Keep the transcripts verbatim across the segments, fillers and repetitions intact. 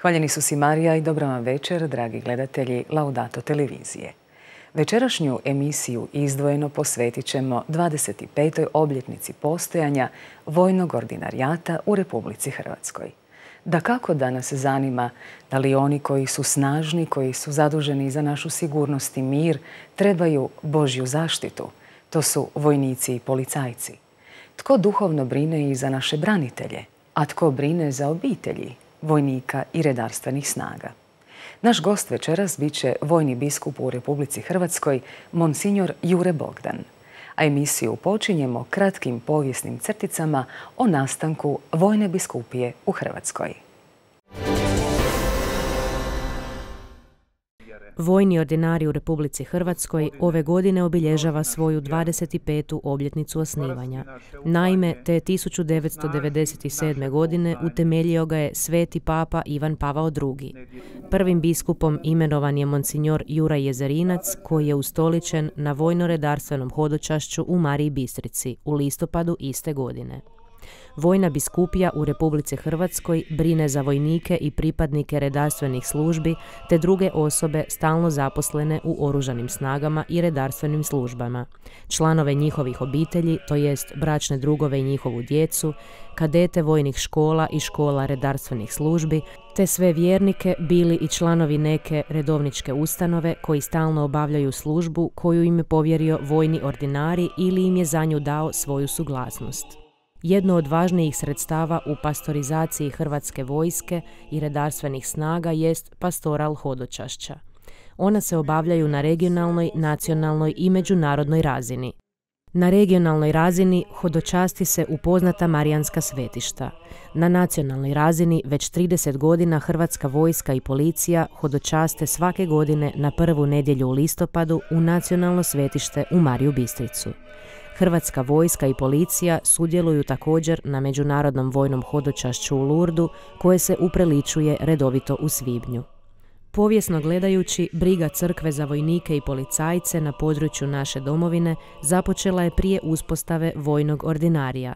Hvaljeni su si Marija i dobro vam večer, dragi gledatelji Laudato televizije. Večerašnju emisiju izdvojeno posvetit ćemo dvadeset petoj obljetnici postojanja vojnog ordinarijata u Republici Hrvatskoj. Dakako da nas zanima da li oni koji su snažni, koji su zaduženi za našu sigurnost i mir, trebaju Božju zaštitu. To su vojnici i policajci. Tko duhovno brine i za naše branitelje, a tko brine za obitelji vojnika i redarstvenih snaga. Naš gost večeras bit će vojni biskup u Republici Hrvatskoj, monsignor Jure Bogdan. A emisiju počinjemo kratkim povijesnim crticama o nastanku vojne biskupije u Hrvatskoj. Vojni ordinarij u Republici Hrvatskoj ove godine obilježava svoju dvadeset petu obljetnicu osnivanja. Naime, te tisuću devetsto devedeset sedme. godine utemeljio ga je sveti papa Ivan Pavao drugi. Prvim biskupom imenovan je monsignor Juraj Jezerinac, koji je ustoličen na vojno-redarstvenom hodočašću u Mariji Bistrici u listopadu iste godine. Vojna biskupija u Republici Hrvatskoj brine za vojnike i pripadnike redarstvenih službi te druge osobe stalno zaposlene u oružanim snagama i redarstvenim službama, članove njihovih obitelji, to jest bračne drugove i njihovu djecu, kadete vojnih škola i škola redarstvenih službi, te sve vjernike, bili i članovi neke redovničke ustanove koji stalno obavljaju službu koju im je povjerio vojni ordinarij ili im je za nju dao svoju suglasnost. Jedno od važnijih sredstava u pastorizaciji hrvatske vojske i redarstvenih snaga jest pastoral hodočašća. Ona se obavljaju na regionalnoj, nacionalnoj i međunarodnoj razini. Na regionalnoj razini hodočasti se u poznata marijanska svetišta. Na nacionalnoj razini već trideset godina hrvatska vojska i policija hodočaste svake godine na prvu nedjelju u listopadu u nacionalno svetište u Mariju Bistricu. Hrvatska vojska i policija sudjeluju također na međunarodnom vojnom hodočašću u Lurdu, koje se upriličuje redovito u svibnju. Povijesno gledajući, briga crkve za vojnike i policajce na području naše domovine započela je prije uspostave vojnog ordinarija.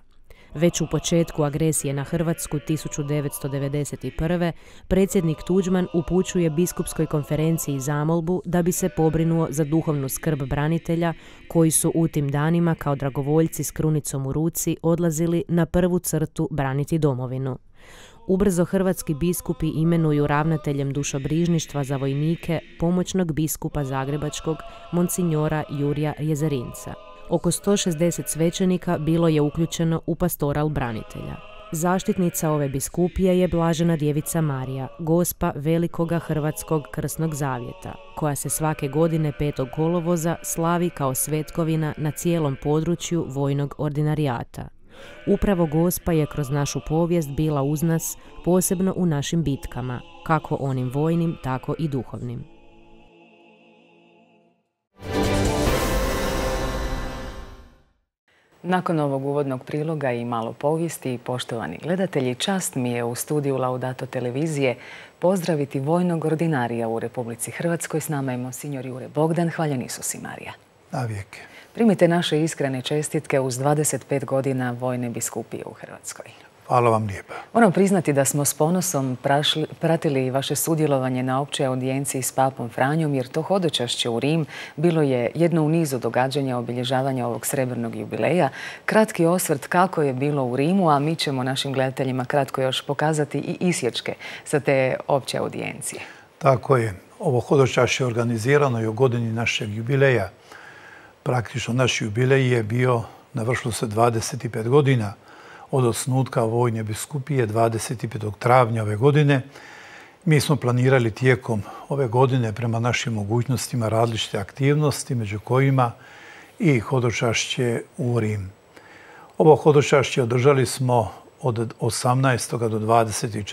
Već u početku agresije na Hrvatsku tisuću devetsto devedeset prve. predsjednik Tuđman upućuje biskupskoj konferenciji zamolbu da bi se pobrinuo za duhovnu skrb branitelja koji su u tim danima kao dragovoljci s krunicom u ruci odlazili na prvu crtu braniti domovinu. Ubrzo hrvatski biskupi imenuju ravnateljem dušobrižništva za vojnike pomoćnog biskupa zagrebačkog monsignora Jurija Jezerinca. Oko sto šezdeset svećenika bilo je uključeno u pastoral branitelja. Zaštitnica ove biskupije je Blažena djevica Marija, gospa Velikoga Hrvatskog krsnog zavjeta, koja se svake godine petog kolovoza slavi kao svetkovina na cijelom području vojnog ordinarijata. Upravo gospa je kroz našu povijest bila uz nas, posebno u našim bitkama, kako onim vojnim, tako i duhovnim. Nakon ovog uvodnog priloga i malo povijesti, poštovani gledatelji, čast mi je u studiju Laudato televizije pozdraviti vojnog ordinarija u Republici Hrvatskoj. S nama je monsignor Jure Bogdan. Hvaljeni su si Marija. Na vijeke. Primite naše iskrene čestitke uz dvadeset pet godina vojne biskupije u Hrvatskoj. Hvala vam lijepa. Moram priznati da smo s ponosom prašli, pratili vaše sudjelovanje na općoj audijenciji s papom Franjom, jer to hodočašće u Rim bilo je jedno u nizu događanja obilježavanja ovog srebrnog jubileja. Kratki osvrt kako je bilo u Rimu, a mi ćemo našim gledateljima kratko još pokazati i isječke sa te opće audijencije. Tako je. Ovo hodočašće je organizirano i u godini našeg jubileja. Praktično naš jubilej je bio, navršilo se dvadeset pet godina od osnutka vojne biskupije dvadeset petog travnja ove godine. Mi smo planirali tijekom ove godine prema našim mogućnostima različite aktivnosti, među kojima i hodočašće u Rim. Ovo hodočašće održali smo od osamnaestog do dvadeset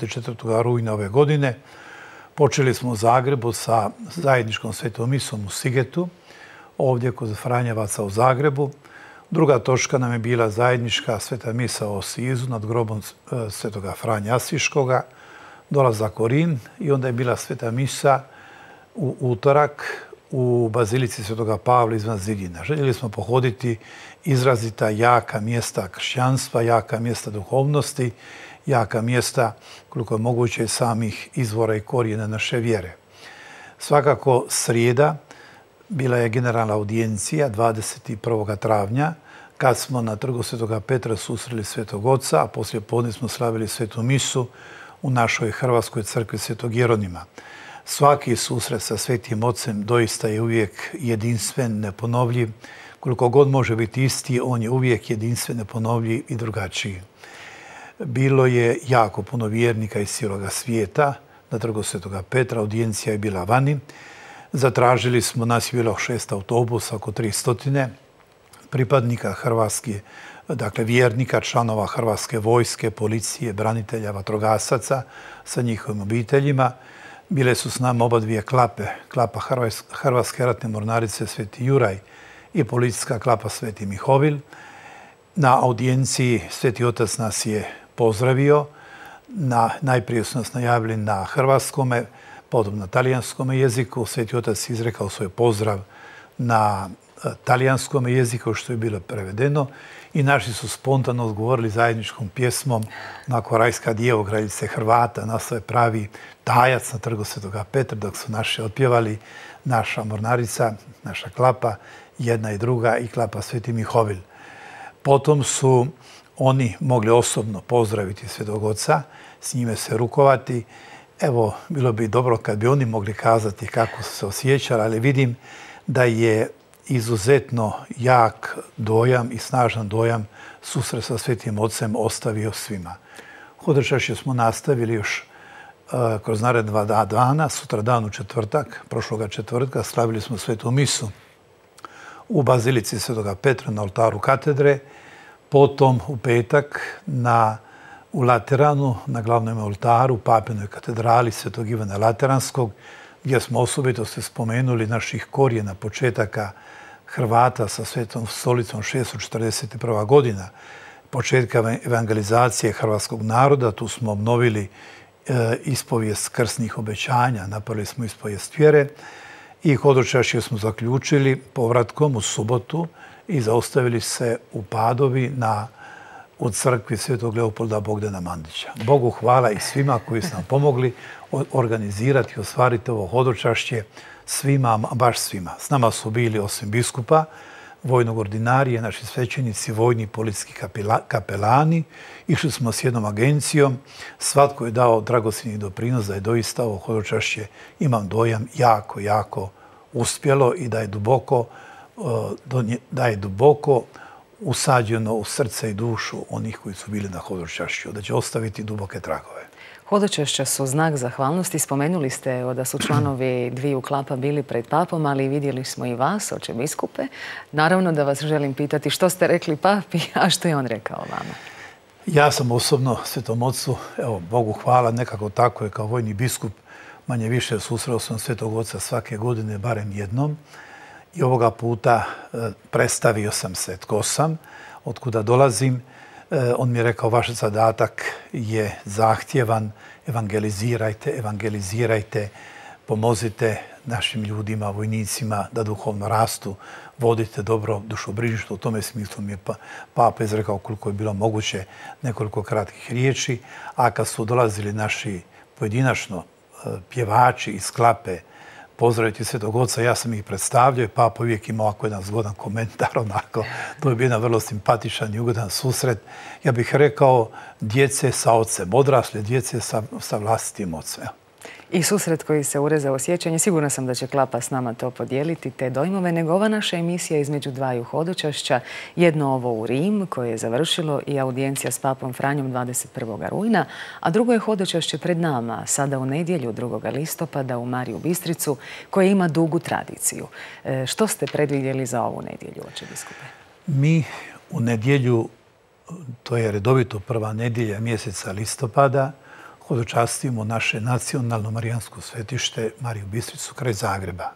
četvrtog rujna ove godine. Počeli smo u Zagrebu sa zajedničkom svetom misom u Sigetu, ovdje kod Franjevaca u Zagrebu. Druga točka nam je bila zajednička sveta misa o Sizu nad grobom svetoga Franje Asiškoga, dolazak u Rim i onda je bila sveta misa u utorak u bazilici svetoga Pavla izvan zidina. Željeli smo pohoditi izrazita jaka mjesta kršćanstva, jaka mjesta duhovnosti, jaka mjesta, koliko je moguće, samih izvora i korijena naše vjere. Svakako srijeda bila je generalna audijencija dvadeset prvog travnja, kad smo na trgu svetoga Petra susreli Svetog Oca, a poslije podne smo slavili svetu misu u našoj Hrvatskoj crkvi Svetog Jeronima. Svaki susret sa Svetim Ocem doista je uvijek jedinstven, neponovljiv. Koliko god može biti isti, on je uvijek jedinstven, neponovljiv i drugačiji. Bilo je jako puno vjernika iz cijeloga svijeta na trgu svetoga Petra, audijencija je bila vani. Zatražili smo, nas je bilo šest autobusa, oko tri stotine pripadnika Hrvatske, dakle vjernika, članova Hrvatske vojske, policije, branitelja, vatrogasaca sa njihovim obiteljima. Bile su s nama oba dvije klape, klapa Hrvatske ratne mornarice Sveti Juraj i policijska klapa Sveti Mihovil. Na audijenciji Sveti Otac nas je pozdravio. Na, najprije su nas najavili na hrvatskome, potom na talijanskom jeziku. Sveti Otac je izrekao svoj pozdrav na talijanskom jeziku, što je bilo prevedeno, i naši su spontano odgovorili zajedničkom pjesmom onako Rajska djevo, kraljice Hrvata, nastao je pravi tajac na trgu svetoga Petra, dok su naši otpjevali naša mornarica, naša klapa, jedna i druga, i klapa Sveti Mihovil. Potom su oni mogli osobno pozdraviti Svetog Oca, s njime se rukovati. Evo, bilo bi dobro kad bi oni mogli kazati kako su se osjećali, ali vidim da je izuzetno jak dojam i snažan dojam susret sa Svetim Ocem ostavio svima. Hodočašće smo nastavili još uh, kroz naredna dva dana, sutra dan u četvrtak, prošloga četvrtka, slavili smo svetu misu u bazilici svetoga Petra na oltaru katedre, potom u petak na, u Lateranu, na glavnom oltaru, papinoj katedrali svetog Ivana Lateranskog, gdje smo osobito se spomenuli naših korijena, početaka Hrvata sa Svetom stolicom šesto četrdeset prva godina, početka evangelizacije hrvatskog naroda. Tu smo obnovili e, ispovijest krsnih obećanja, napravili smo ispovijest vjere i hodočašće smo zaključili povratkom u subotu i zaustavili se u Padovi na, u crkvi Svetog Leopolda Bogdana Mandića. Bogu hvala i svima koji su nam pomogli organizirati i ostvariti ovo hodočašće, svima, baš svima. S nama su bili, osim biskupa, vojnog ordinarije, naši svećenici, vojni i policijski kapelani. Išli smo s jednom agencijom. Svatko je dao dragocjeni doprinos da je doista ovo hodočašće, imam dojam, jako, jako uspjelo i da je duboko, da je duboko usađeno u srce i dušu onih koji su bili na hodočašću, da će ostaviti duboke tragove. Hodočašća su znak zahvalnosti. Spomenuli ste da su članovi dviju klapa bili pred papom, ali vidjeli smo i vas, oče biskupe. Naravno da vas želim pitati što ste rekli papi, a što je on rekao vama? Ja sam osobno Svetom Ocu, evo, Bogu hvala, nekako tako je kao vojni biskup, manje više susreo sam Svetog Oca svake godine, barem jednom. I ovoga puta predstavio sam se tko sam, otkuda dolazim. On mi je rekao, vaš zadatak je zahtjevan, evangelizirajte, evangelizirajte, pomozite našim ljudima, vojnicima da duhovno rastu, vodite dobro dušobrižništvo. U tome smislu mi je Papa izrekao koliko je bilo moguće nekoliko kratkih riječi, a kad su dolazili naši pojedinačno pjevači iz klape pozdraviti Svetog Oca, ja sam ih predstavljao i Papa uvijek imao ovako jedan zgodan komentar, onako, to je bio jedan vrlo simpatičan i ugodan susret. Ja bih rekao djece sa ocem, odrasle djece sa, sa vlastitim ocem. I susret koji se urezao sjećanje, sigurna sam da će klapa s nama to podijeliti, te dojmove, nego ova naša emisija između dvaju hodočašća, jedno ovo u Rim koje je završilo i audijencija s papom Franjom dvadeset prvog rujna, a drugo je hodočašće pred nama, sada u nedjelju drugog listopada u Mariju Bistricu, koja ima dugu tradiciju. E, što ste predvidjeli za ovu nedjelju, oče biskupe? Mi u nedjelju, to je redovito prva nedjelja mjeseca listopada, hodočastimo naše nacionalno marijansko svetište Mariju Bistricu kraj Zagreba.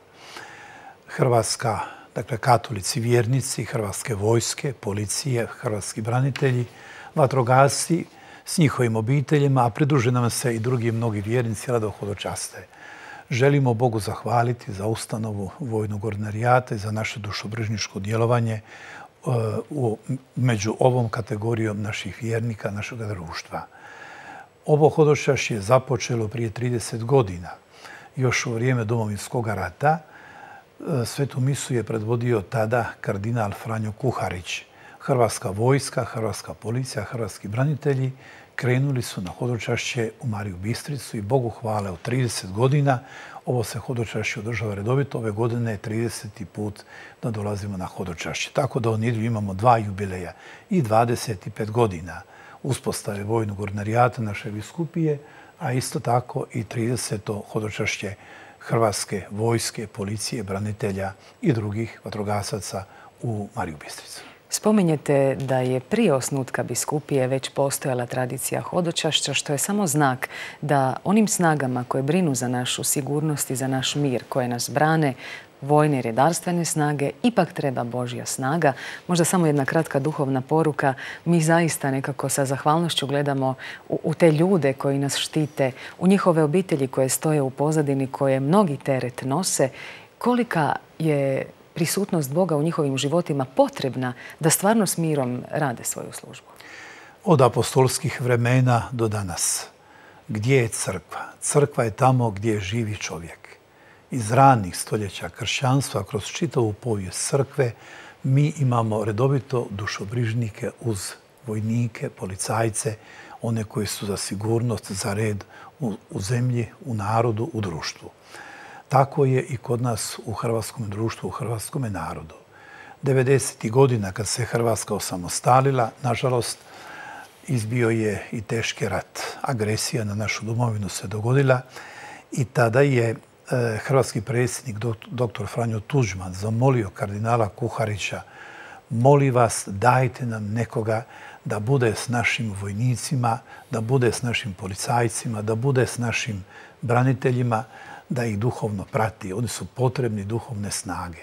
Hrvatska dakle katolici, vjernici, hrvatske vojske, policije, hrvatski branitelji, vatrogasci s njihovim obiteljima, a pridruže nam se i drugi mnogi vjernici rado hodočaste. Želimo Bogu zahvaliti za ustanovu vojnog ordinarijata i za naše dušobrižničko djelovanje među ovom kategorijom naših vjernika, našeg društva. Ovo hodočašće je započelo prije trideset godina. Još u vrijeme Domovinskog rata svetu misu je predvodio tada kardinal Franjo Kuharić. Hrvatska vojska, hrvatska policija, hrvatski branitelji krenuli su na hodočašće u Mariju Bistricu i Bogu hvala od trideset godina. Ovo se hodočašće održava redovito. Ove godine je trideseti put da dolazimo na hodočašće. Tako da u nedjelju imamo dva jubileja i dvadeset pet godina uspostave vojnog ordinarijata naše biskupije, a isto tako i trideseto hodočašće hrvatske vojske, policije, branitelja i drugih vatrogasaca u Mariju Bistricu. Spominjete da je prije osnutka biskupije već postojala tradicija hodočašća, što je samo znak da onim snagama koje brinu za našu sigurnost i za naš mir, koje nas brane, vojne i redarstvene snage, ipak treba Božja snaga. Možda samo jedna kratka duhovna poruka. Mi zaista nekako sa zahvalnošću gledamo u, u te ljude koji nas štite, u njihove obitelji koje stoje u pozadini, koje mnogi teret nose. Kolika je prisutnost Boga u njihovim životima potrebna da stvarno s mirom rade svoju službu? Od apostolskih vremena do danas. Gdje je crkva? Crkva je tamo gdje živi čovjek. Iz ranih stoljeća kršćanstva, kroz čitavu povijest crkve, mi imamo redovito dušobrižnike uz vojnike, policajce, one koji su za sigurnost, za red u, u zemlji, u narodu, u društvu. Tako je i kod nas u hrvatskom društvu, u hrvatskom narodu. devedesetih godina kad se Hrvatska osamostalila, nažalost, izbio je i teški rat. Agresija na našu domovinu se dogodila i tada je hrvatski predsjednik doktor Franjo Tuđman zamolio kardinala Kuharića: moli vas, dajte nam nekoga da bude s našim vojnicima, da bude s našim policajcima, da bude s našim braniteljima, da ih duhovno prati. Oni su potrebni duhovne snage.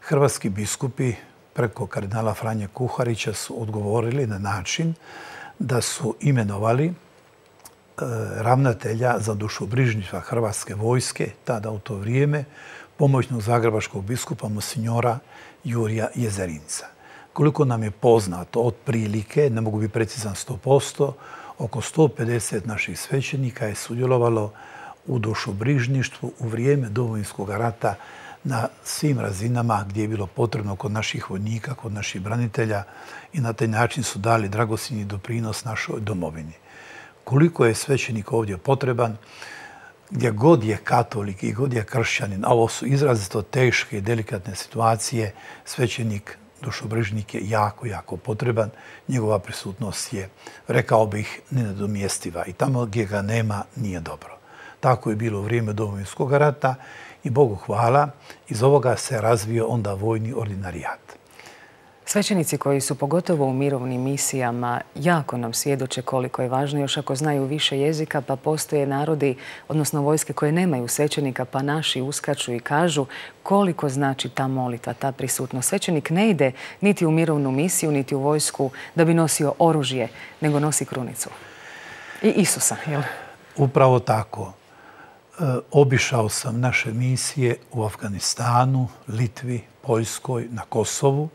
Hrvatski biskupi preko kardinala Franje Kuharića su odgovorili na način da su imenovali ravnatelja za dušobrižništva Hrvatske vojske, tada u to vrijeme, pomoćnog zagrebačkog biskupa monsignora Jurija Jezerinca. Koliko nam je poznato, otprilike, ne mogu biti precizan sto posto, oko sto pedeset naših svećenika je sudjelovalo u dušobrižništvu u vrijeme Domovinskog rata na svim razinama gdje je bilo potrebno kod naših vojnika, kod naših branitelja, i na taj način su dali dragocjeni doprinos našoj domovini. Koliko je svećenik ovdje potreban, gdje god je katolik i god je kršćanin, a ovo su izrazito teške i delikatne situacije, svećenik, dušobrižnik je jako, jako potreban. Njegova prisutnost je, rekao bih, nenadomjestiva i tamo gdje ga nema nije dobro. Tako je bilo u vrijeme Domovinskog rata i Bogu hvala, iz ovoga se razvio onda vojni ordinarijat. Svećenici koji su pogotovo u mirovnim misijama jako nam svjedoče koliko je važno, još ako znaju više jezika, pa postoje narodi, odnosno vojske koje nemaju svećenika, pa naši uskaču i kažu koliko znači ta molitva, ta prisutnost. Svećenik ne ide niti u mirovnu misiju, niti u vojsku da bi nosio oružje, nego nosi krunicu. I Isusa, jel? Upravo tako. Obišao sam naše misije u Afganistanu, Litvi, Poljskoj, na Kosovu.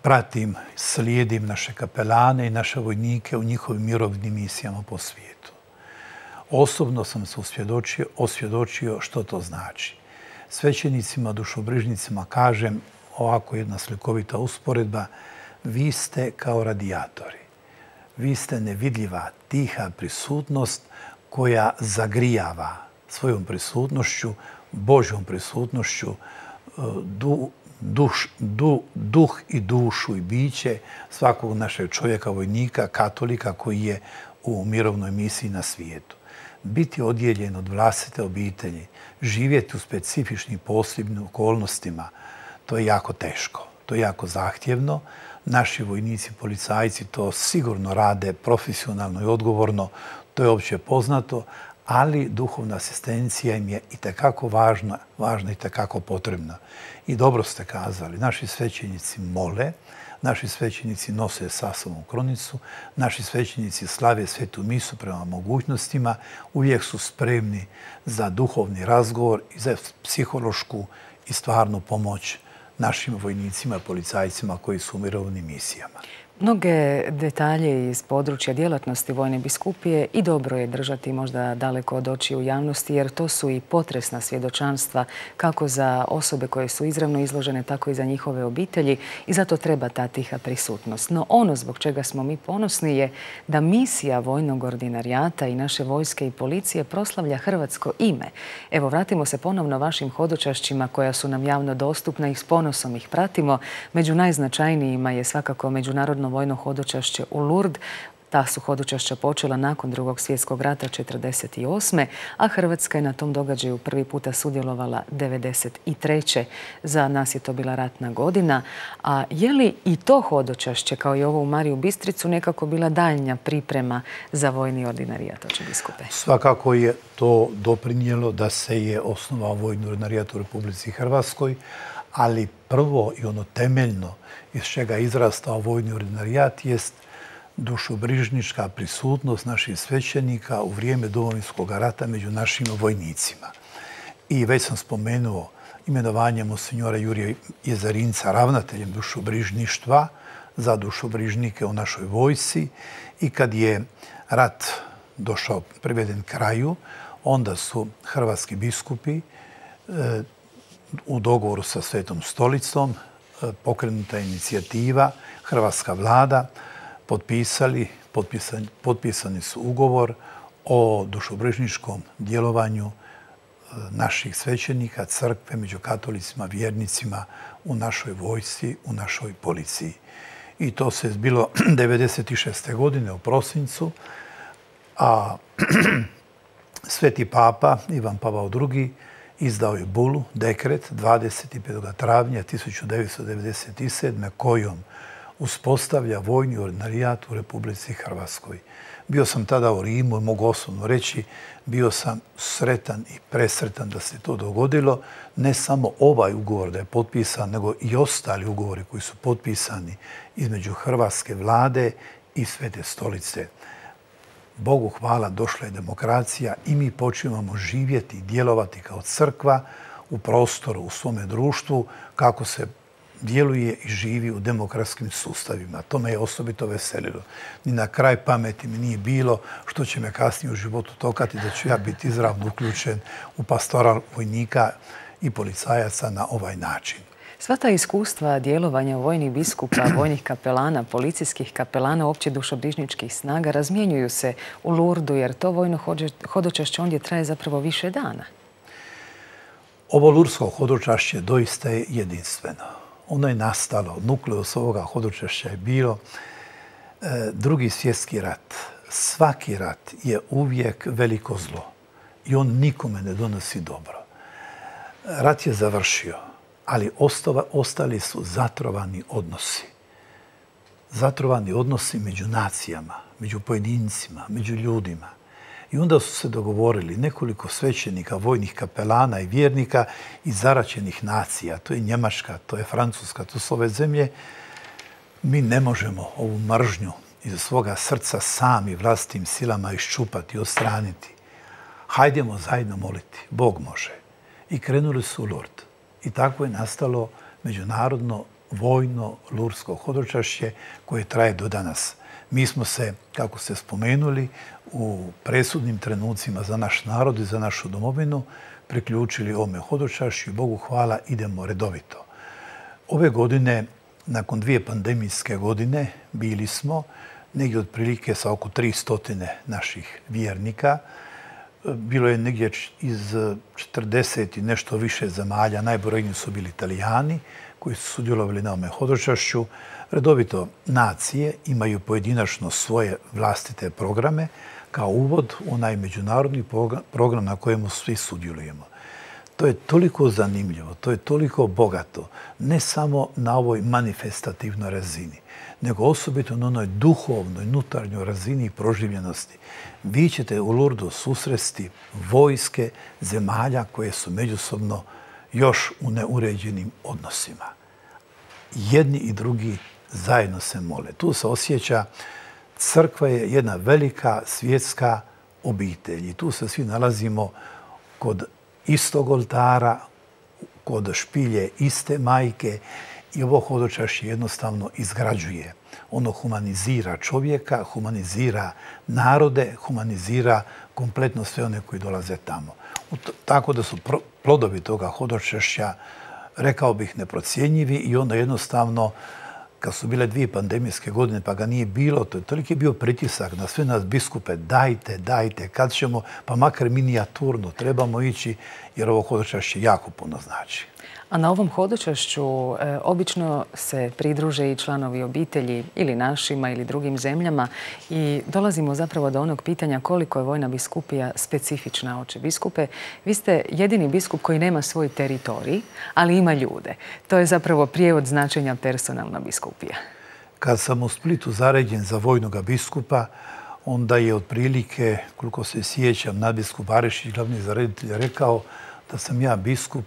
Pratim, slijedim naše kapelane i naše vojnike u njihovim mirovnim misijama po svijetu. Osobno sam se osvjedočio, osvjedočio što to znači. Svećenicima, dušobrižnicima kažem, ovako jedna slikovita usporedba: vi ste kao radijatori. Vi ste nevidljiva, tiha prisutnost koja zagrijava svojom prisutnošću, Božjom prisutnošću, du, duš, du, duh i dušu i biće svakog našeg čovjeka, vojnika, katolika koji je u mirovnoj misiji na svijetu. Biti odjeljen od vlastite obitelji, živjeti u specifičnim posebnim okolnostima, to je jako teško, to je jako zahtjevno. Naši vojnici, policajci to sigurno rade profesionalno i odgovorno, to je opće poznato, ali duhovna asistencija im je itekako važna, važna i itekako potrebna. I dobro ste kazali, naši svećenici mole, naši svećenici nose sa sobom krunicu, naši svećenici slave svetu misu prema mogućnostima, uvijek su spremni za duhovni razgovor i za psihološku i stvarnu pomoć našim vojnicima, policajcima koji su u mirovnim misijama. Mnoge detalje iz područja djelatnosti Vojne biskupije i dobro je držati možda daleko od očiju javnosti, jer to su i potresna svjedočanstva kako za osobe koje su izravno izložene, tako i za njihove obitelji i zato treba ta tiha prisutnost. No ono zbog čega smo mi ponosni je da misija vojnog ordinarijata i naše vojske i policije proslavlja hrvatsko ime. Evo, vratimo se ponovno vašim hodočašćima koja su nam javno dostupna i s ponosom ih pratimo. Među najznačajnijima je svakako međunarodno vojno hodočašće u Lourdes. Ta su hodočašća počela nakon Drugog svjetskog rata četrdeset osme. a Hrvatska je na tom događaju prvi puta sudjelovala devedeset treće. Za nas je to bila ratna godina. A je li i to hodočašće, kao i ovo u Mariju Bistricu, nekako bila daljnja priprema za vojni ordinarijat, oče biskupe? Svakako je to doprinijelo da se je osnovao vojni ordinarijat u Republici Hrvatskoj, ali prvo i ono temeljno iz čega je izrastao vojni ordinarijat jest dušobrižnička prisutnost naših svećenika u vrijeme Domovinskog rata među našim vojnicima. I već sam spomenuo imenovanje monsinjora Jurija Jezarinca ravnateljem dušobrižništva za dušobrižnike u našoj vojsci i kad je rat došao priveden kraju, onda su hrvatski biskupi u dogovoru sa Svetom stolicom pokrenuta inicijativa, hrvatska vlada potpisali, potpisani, potpisani su ugovor o dušobrižničkom djelovanju naših svećenika, crkve, među katolicima, vjernicima u našoj vojsci, u našoj policiji. I to se zbilo devedeset šeste. godine u prosincu, a Sveti papa Ivan Pavao drugi izdao je bulu, dekret, dvadeset petog travnja tisuću devetsto devedeset sedme. kojom uspostavlja vojni ordinarijat u Republici Hrvatskoj. Bio sam tada u Rimu i mogu osobno reći, bio sam sretan i presretan da se to dogodilo. Ne samo ovaj ugovor da je potpisan, nego i ostali ugovori koji su potpisani između hrvatske vlade i Svete stolice. Bogu hvala, došla je demokracija i mi počinjemo živjeti i djelovati kao crkva u prostoru, u svome društvu, kako se djeluje i živi u demokratskim sustavima. To me je osobito veselilo. Ni na kraj pameti mi nije bilo što će me kasnije u životu tokati da ću ja biti izravno uključen u pastoral vojnika i policajaca na ovaj način. Sva ta iskustva djelovanja vojnih biskupa, vojnih kapelana, policijskih kapelana, opće dušobrižničkih snaga razmjenjuju se u Lourdesu, jer to vojno hodočašće ondje traje zapravo više dana. Ovo lurdsko hodočašće doista je jedinstveno. Ono je nastalo, nukleus ovoga hodočašća je bilo Drugi svjetski rat. Svaki rat je uvijek veliko zlo i on nikome ne donosi dobro. Rat je završio, ali ostali su zatrovani odnosi. Zatrovani odnosi među nacijama, među pojedincima, među ljudima. I onda su se dogovorili nekoliko svećenika, vojnih kapelana i vjernika iz zaraćenih nacija. To je Njemačka, to je Francuska, to su ove zemlje. Mi ne možemo ovu mržnju iz svoga srca sami vlastitim silama iščupati i odstraniti. Hajdemo zajedno moliti. Bog može. I krenuli su u Lourdes. I tako je nastalo međunarodno vojno lurdsko hodočašće koje traje do danas. Mi smo se, kako ste spomenuli, u presudnim trenucima za naš narod i za našu domovinu priključili ovome hodočašću i Bogu hvala idemo redovito. Ove godine, nakon dvije pandemijske godine, bili smo negdje otprilike sa oko tristo naših vjernika. Bilo je negdje iz četrdeset i nešto više zemalja, najbrojniji su bili Italijani koji su sudjelovali na ovome hodočašću. Redovito nacije imaju pojedinačno svoje vlastite programe kao uvod u onaj međunarodni program na kojemu svi sudjelujemo. To je toliko zanimljivo, to je toliko bogato, ne samo na ovoj manifestativnoj razini, nego osobito na onoj duhovnoj, unutarnjoj razini proživljenosti. Vi ćete u Lurdu susresti vojske zemalja koje su međusobno još u neuređenim odnosima. Jedni i drugi zajedno se mole. Tu se osjeća, crkva je jedna velika svjetska obitelj i tu se svi nalazimo kod istog oltara, kod špilje iste majke i ovo hodočašće jednostavno izgrađuje. Ono humanizira čovjeka, humanizira narode, humanizira kompletno sve one koji dolaze tamo. Tako da su plodovi toga hodočašća, rekao bih, neprocjenjivi i onda jednostavno kad su bile dvije pandemijske godine pa ga nije bilo, to je toliki bio pritisak na sve nas biskupe, dajte, dajte, kad ćemo, pa makar minijaturno, trebamo ići jer ovo hodočašće jako puno znači. A na ovom hodočašću e, obično se pridruže i članovi obitelji ili našima ili drugim zemljama i dolazimo zapravo do onog pitanja koliko je Vojna biskupija specifična. Oče biskupe, vi ste jedini biskup koji nema svoj teritorij, ali ima ljude. To je zapravo prijevod značenja personalna biskupija. Kad sam u Splitu zaređen za vojnog biskupa, onda je otprilike, koliko se sjećam, nadbiskup Barišić, glavni zareditelj, rekao da sam ja biskup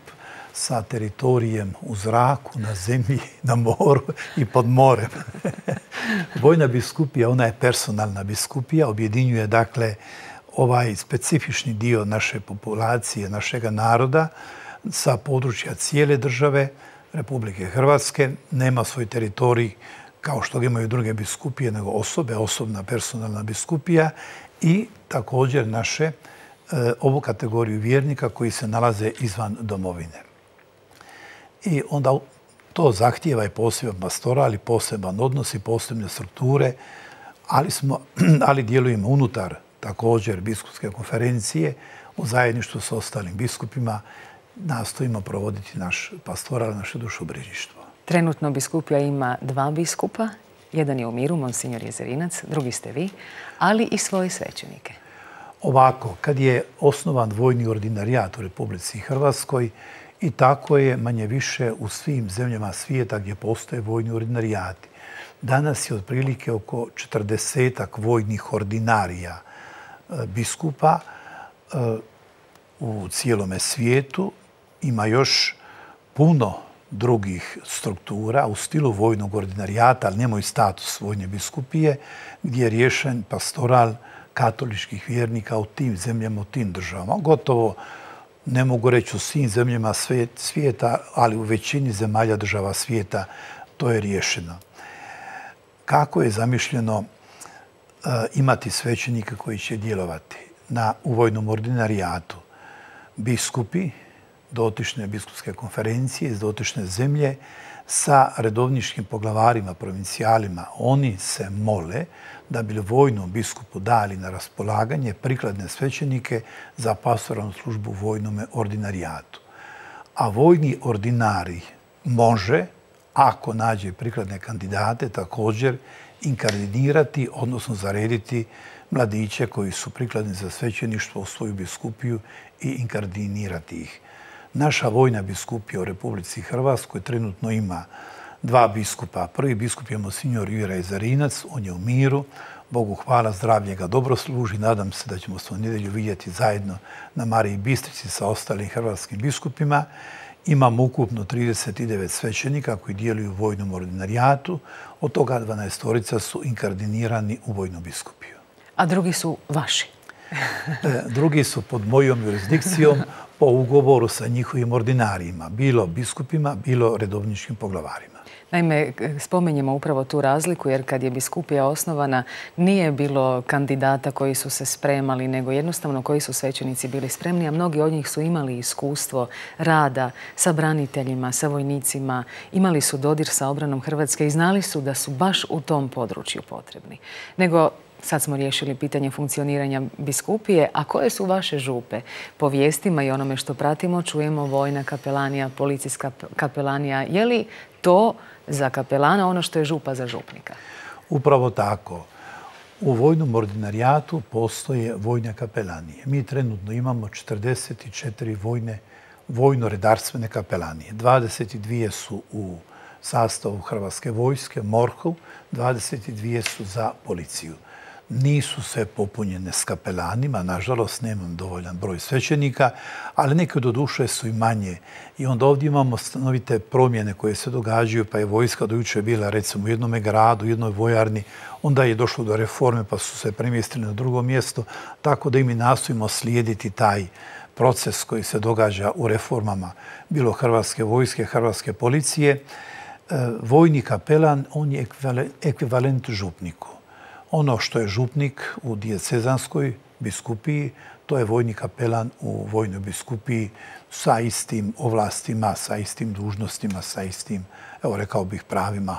sa teritorijem u zraku, na zemlji, na moru i pod morem. Vojna biskupija, ona je personalna biskupija, objedinjuje dakle ovaj specifični dio naše populacije, našega naroda sa područja cijele države Republike Hrvatske. Nema svoj teritorij kao što ga imaju druge biskupije, nego osobe, osobna personalna biskupija i također naše ovu kategoriju vjernika koji se nalaze izvan domovine. I onda to zahtijeva i poseban pastoral, i poseban odnos i posebne strukture, ali, smo, ali djelujemo unutar također biskupske konferencije u zajedništvu s ostalim biskupima, nastojimo provoditi naš pastoral, naše dušobrižništvo. Trenutno biskupija ima dva biskupa, jedan je u miru, monsignor Jezerinac, drugi ste vi, ali i svoje svećenike. Ovako, kad je osnovan vojni ordinarijat u Republici Hrvatskoj, i tako je manje više u svim zemljama svijeta gdje postoje vojni ordinarijati. Danas je otprilike oko četrdesetak vojnih ordinarija biskupa u cijelome svijetu. Ima još puno drugih struktura u stilu vojnog ordinarijata, ali nemaju status vojne biskupije, gdje je riješen pastoral katoličkih vjernika u tim zemljama, u tim državama. Gotovo, ne mogu reći u svim zemljama svijeta, ali u većini zemalja država svijeta to je riješeno. Kako je zamišljeno imati svećenika koji će djelovati na, u vojnom ordinarijatu? Biskupi dotične biskupske konferencije iz dotične zemlje sa redovničkim poglavarima, provincijalima, oni se mole da bi vojnom biskupu dali na raspolaganje prikladne svećenike za pastoralnu službu u vojnom ordinarijatu. A vojni ordinarij može, ako nađe prikladne kandidate, također inkardinirati, odnosno zarediti mladiće koji su prikladni za svećeništvo u svoju biskupiju i inkardinirati ih. Naša vojna biskupija u Republici Hrvatskoj trenutno ima dva biskupa. Prvi biskup je monsignor Jure Jezerinac, on je u miru. Bogu hvala, zdravlje ga dobro služi. Nadam se da ćemo se u nedjelju vidjeti zajedno na Mariji Bistrici sa ostalim hrvatskim biskupima. Imamo ukupno trideset devet svećenika koji djeluju u vojnom ordinarijatu. Od toga dvanaestorica su inkardinirani u vojnu biskupiju. A drugi su vaši? Drugi su pod mojom jurisdikcijom po ugovoru sa njihovim ordinarijima, bilo biskupima, bilo redovničkim poglavarima. Naime, spomenjemo upravo tu razliku, jer kad je biskupija osnovana nije bilo kandidata koji su se spremali, nego jednostavno koji su svećenici bili spremni, a mnogi od njih su imali iskustvo rada sa braniteljima, sa vojnicima, imali su dodir sa obranom Hrvatske i znali su da su baš u tom području potrebni. Nego sad smo riješili pitanje funkcioniranja biskupije, a koje su vaše župe? Po vijestima i onome što pratimo čujemo vojna kapelanija, policijska kapelanija. Je li to za kapelana ono što je župa za župnika? Upravo tako. U vojnom ordinarijatu postoje vojne kapelanije. Mi trenutno imamo četrdeset četiri vojne vojno-redarstvene kapelanije. dvadeset dvije su u sastavu Hrvatske vojske, MORH-u, dvadeset dvije su za policiju. Nisu sve popunjene s kapelanima, nažalost nemam dovoljan broj svećenika, ali neke do duše su i manje. I onda ovdje imamo stanovite promjene koje se događaju, pa je vojska do juče bila recimo u jednom gradu, u jednoj vojarni, onda je došlo do reforme pa su se premjestili na drugo mjesto, tako da i mi nastojimo slijediti taj proces koji se događa u reformama, bilo Hrvatske vojske, Hrvatske policije. Vojni kapelan, on je ekvivalent župniku. Ono što je župnik u dijecezanskoj biskupiji, to je vojni kapelan u vojnoj biskupiji sa istim ovlastima, sa istim dužnostima, sa istim, evo rekao bih, pravima,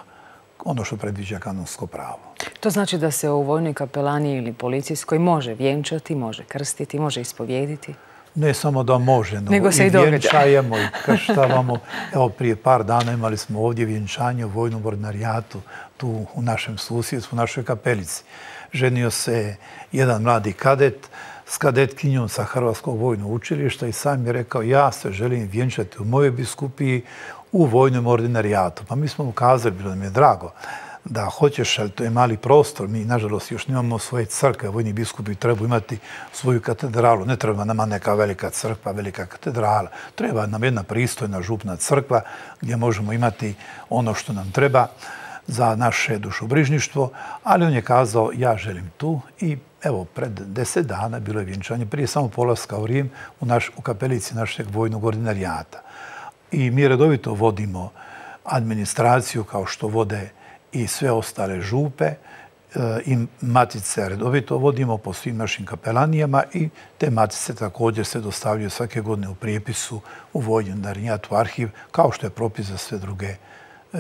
ono što predviđa kanonsko pravo. To znači da se u vojnoj kapelani ili policijskoj može vjenčati, može krstiti, može ispovjediti? Ne samo da može, nego i vjenčajemo i krštavamo. Evo, prije par dana imali smo ovdje vjenčanje u vojnom ordinarijatu, tu u našem susjedstvu, u našoj kapelici. Ženio se jedan mladi kadet s kadetkinjom sa Hrvatskog vojnog učilišta i sam je rekao, ja se želim vjenčati u mojoj biskupiji u vojnom ordinarijatu. Pa mi smo mu kazali, bilo nam je drago, da hoćeš, ali to je mali prostor. Mi, nažalost, još nemamo svoje crkve. Vojni biskupi trebaju imati svoju katedralu. Ne treba nama neka velika crkva, velika katedrala. Treba nam jedna pristojna župna crkva gdje možemo imati ono što nam treba za naše dušobrižništvo. Ali on je kazao, ja želim tu i evo, pred deset dana bilo je vjenčanje, prije samo polaska u Rim, u, naš, u kapelici našeg vojnog ordinarijata. I mi redovito vodimo administraciju kao što vode i sve ostale župe i matice redovito vodimo po svim našim kapelanijama i te matice također se dostavljaju svake godine u prijepisu u vojni ordinarijat, u arhiv, kao što je propis za sve druge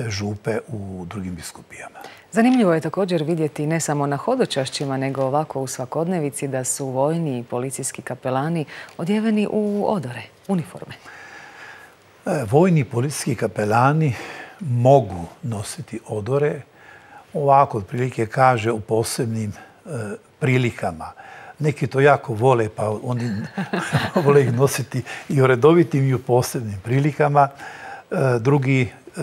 župe u drugim biskupijama. Zanimljivo je također vidjeti ne samo na hodočašćima, nego ovako u svakodnevici da su vojni i policijski kapelani odjeveni u odore, uniforme. Vojni i policijski kapelani mogu nositi odore, ovako otprilike kaže u posebnim e, prilikama. Neki to jako vole, pa oni vole ih nositi i u redovitim i u posebnim prilikama. E, drugi e,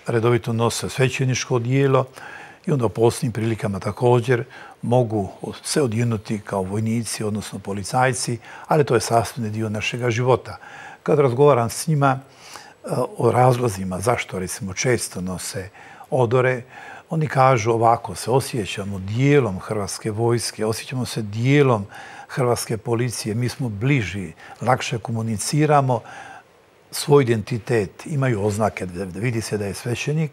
redovito nose svećeničko odijelo i onda u posebnim prilikama također mogu se odjenuti kao vojnici, odnosno policajci, ali to je sastavni dio našega života. Kad razgovaram s njima o razlozima zašto, recimo, često nose odore, oni kažu ovako, se osjećamo dijelom Hrvatske vojske, osjećamo se dijelom Hrvatske policije, mi smo bliži, lakše komuniciramo, svoj identitet, imaju oznake, da vidi se da je svećenik,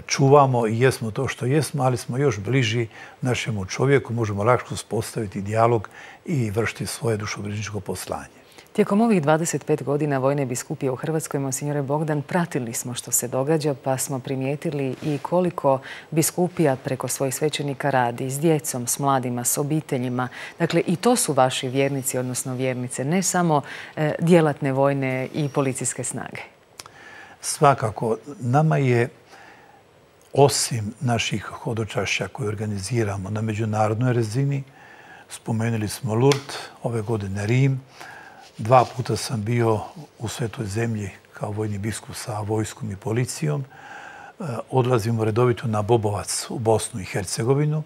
čuvamo i jesmo to što jesmo, ali smo još bliži našemu čovjeku, možemo lakše uspostaviti dijalog i vršiti svoje dušobrižničko poslanje. Tijekom ovih dvadeset pet godina vojne biskupije u Hrvatskoj, monsignore Bogdan, pratili smo što se događa, pa smo primijetili i koliko biskupija preko svojih svećenika radi s djecom, s mladima, s obiteljima. Dakle, i to su vaši vjernici, odnosno vjernice, ne samo e, djelatne vojne i policijske snage. Svakako, nama je, osim naših hodočašća koje organiziramo na međunarodnoj razini, spomenuli smo Lourdes, ove godine Rim. Dva puta sam bio u Svetoj zemlji kao vojni biskup sa vojskom i policijom. Odlazimo redovito na Bobovac u Bosnu i Hercegovinu.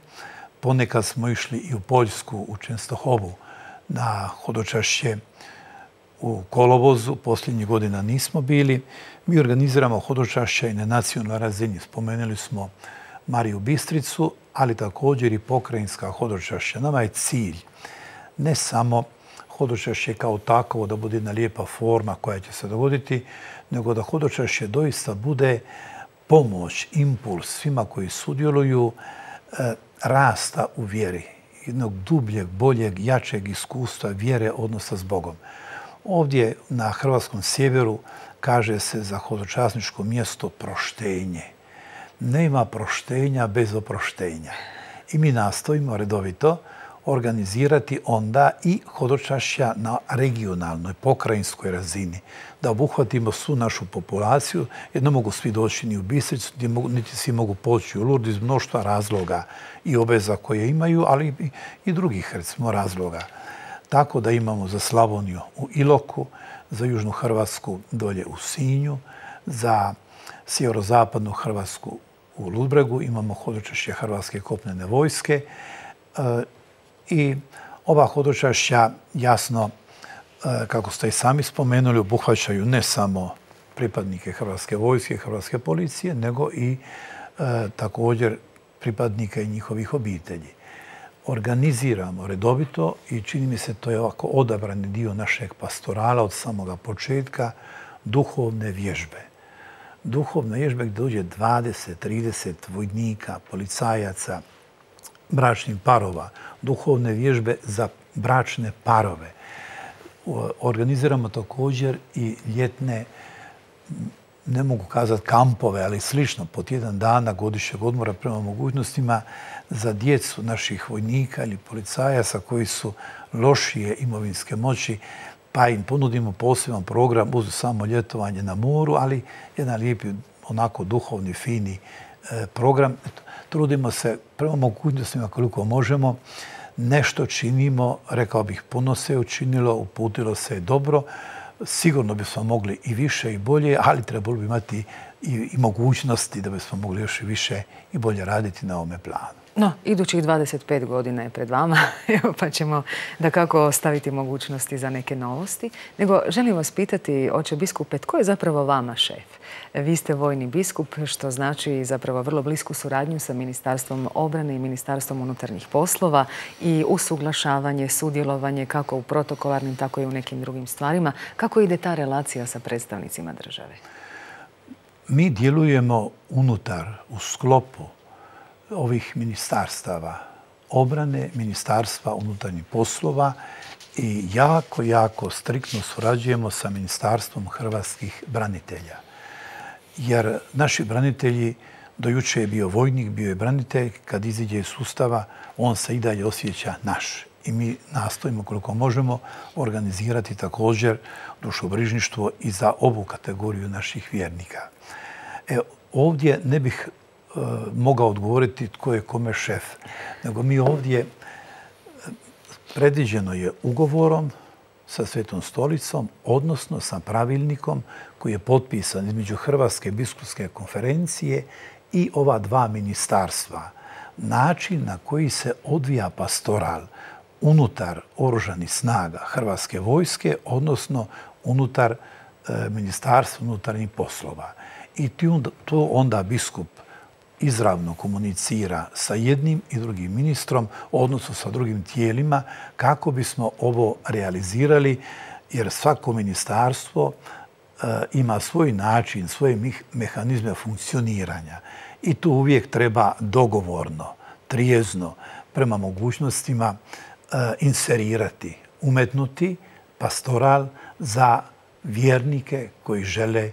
Ponekad smo išli i u Poljsku, u Čenstohovu, na hodočašće u kolovozu. Posljednjih godina nismo bili. Mi organiziramo hodočašća i na nacionalnoj razini. Spomenuli smo Mariju Bistricu, ali također i pokrajinska hodočašća. Nama je cilj ne samo hodočašće kao takovo da bude jedna lijepa forma koja će se dogoditi, nego da hodočašće doista bude pomoć, impuls svima koji sudjeluju e, rasta u vjeri, jednog dubljeg, boljeg, jačeg iskustva vjere odnosa s Bogom. Ovdje na hrvatskom sjeveru kaže se za hodočasničko mjesto proštenje. Nema proštenja bez oproštenja. I mi nastojimo redovito organizirati onda i hodočašća na regionalnoj, pokrajinskoj razini, da obuhvatimo svu našu populaciju, jer ne mogu svi doći ni u Bistricu, niti svi mogu poći u Lourdes iz mnoštva razloga i obveza koje imaju, ali i drugih, recimo, razloga. tako da imamo za Slavoniju u Iloku, za Južnu Hrvatsku dolje u Sinju, za sjeverozapadnu Hrvatsku u Ludbregu, imamo hodočašće Hrvatske kopnene vojske i ova hodočašća, jasno, kako ste i sami spomenuli, obuhvaćaju ne samo pripadnike Hrvatske vojske, Hrvatske policije, nego i također pripadnika i njihovih obitelji. Organiziramo redovito i čini mi se to je ovako odabrani dio našeg pastorala od samoga početka, duhovne vježbe. Duhovne vježbe gdje dođe dvadeset trideset vojnika, policajaca, bračnih parova, duhovne vježbe za bračne parove. Organiziramo također i ljetne, ne mogu kazati kampove, ali slično, po tjedan dana godišnjeg odmora prema mogućnostima za djecu naših vojnika ili policajaca koji su lošije imovinske moći, pa im ponudimo poseban program uz samo ljetovanje na moru, ali jedan lijepi, onako duhovni, fini program. Trudimo se prema mogućnostima koliko možemo. Nešto činimo, rekao bih, puno se učinilo, uputilo se dobro. Sigurno bismo mogli i više i bolje, ali trebalo bi imati i, i mogućnosti da bismo mogli još i više i bolje raditi na ovome planu. No, idućih dvadeset pet godina je pred vama, pa ćemo da kako ostaviti mogućnosti za neke novosti. Nego želim vas pitati, oče biskupe, tko je zapravo vama šef? Vi ste vojni biskup, što znači zapravo vrlo blisku suradnju sa Ministarstvom obrane i Ministarstvom unutarnjih poslova i usuglašavanje, sudjelovanje kako u protokolarnim, tako i u nekim drugim stvarima. Kako ide ta relacija sa predstavnicima države? Mi djelujemo unutar, u sklopu ovih ministarstava obrane, Ministarstva unutarnjih poslova i jako, jako striktno surađujemo sa Ministarstvom hrvatskih branitelja. Jer naši branitelji, do juče je bio vojnik, bio je branitelj, kad iziđe iz sustava, on se i dalje osjeća naš. I mi nastojimo koliko možemo organizirati također dušobrižništvo i za ovu kategoriju naših vjernika. E, ovdje ne bih mogao odgovoriti tko je kome šef. Nego mi ovdje predviđeno je ugovorom sa Svetom stolicom, odnosno sa pravilnikom koji je potpisan između Hrvatske biskupske konferencije i ova dva ministarstva. Način na koji se odvija pastoral unutar oružanih snaga Hrvatske vojske, odnosno unutar Ministarstva unutarnjih poslova. I to onda biskup izravno komunicira sa jednim i drugim ministrom, odnosno sa drugim tijelima, kako bismo ovo realizirali, jer svako ministarstvo ima svoj način, svoje mehanizme funkcioniranja. I tu uvijek treba dogovorno, trijezno, prema mogućnostima inserirati, umetnuti pastoral za vjernike koji žele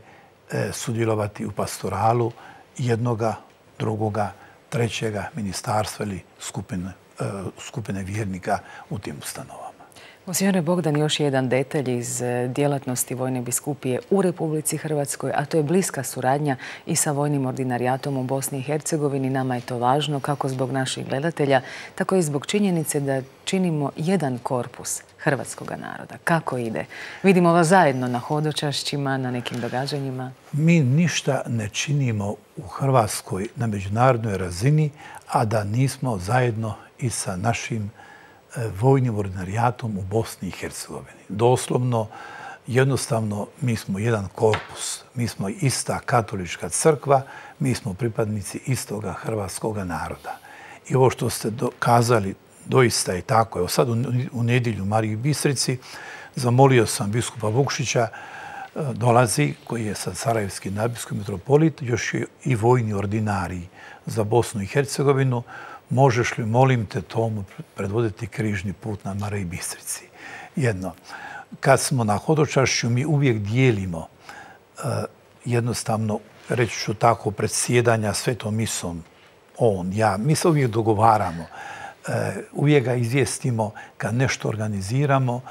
sudjelovati u pastoralu jednoga, drugoga, trećega ministarstva ili skupine, skupine vjernika u tim ustanovama. Monsignore Bogdan, još jedan detalj iz djelatnosti Vojne biskupije u Republici Hrvatskoj, a to je bliska suradnja i sa vojnim ordinarijatom u Bosni i Hercegovini. Nama je to važno kako zbog naših gledatelja, tako i zbog činjenice da činimo jedan korpus hrvatskog naroda. Kako ide? Vidimo vas zajedno na hodočašćima, na nekim događanjima. Mi ništa ne činimo u Hrvatskoj na međunarodnoj razini, a da nismo zajedno i sa našim vojnim ordinarijatom u Bosni i Hercegovini. Doslovno, jednostavno, mi smo jedan korpus. Mi smo ista katolička crkva, mi smo pripadnici istoga hrvatskoga naroda. I ovo što ste kazali, doista je tako. Evo sad u nedjelju u Mariji Bistrici zamolio sam biskupa Vukšića, dolazi, koji je sad sarajevski nadbiskup metropolit, još i vojni ordinarij za Bosnu i Hercegovinu. Možeš li, molim te, tomu predvoditi križni put na Mariji Bistrici? Jedno. Kad smo na hodočašću, mi uvijek dijelimo jednostavno, reći ću tako, predsjedanja svetom misom. On, ja, mi se uvijek dogovaramo. Uvijek ga izvijestimo kad nešto organiziramo,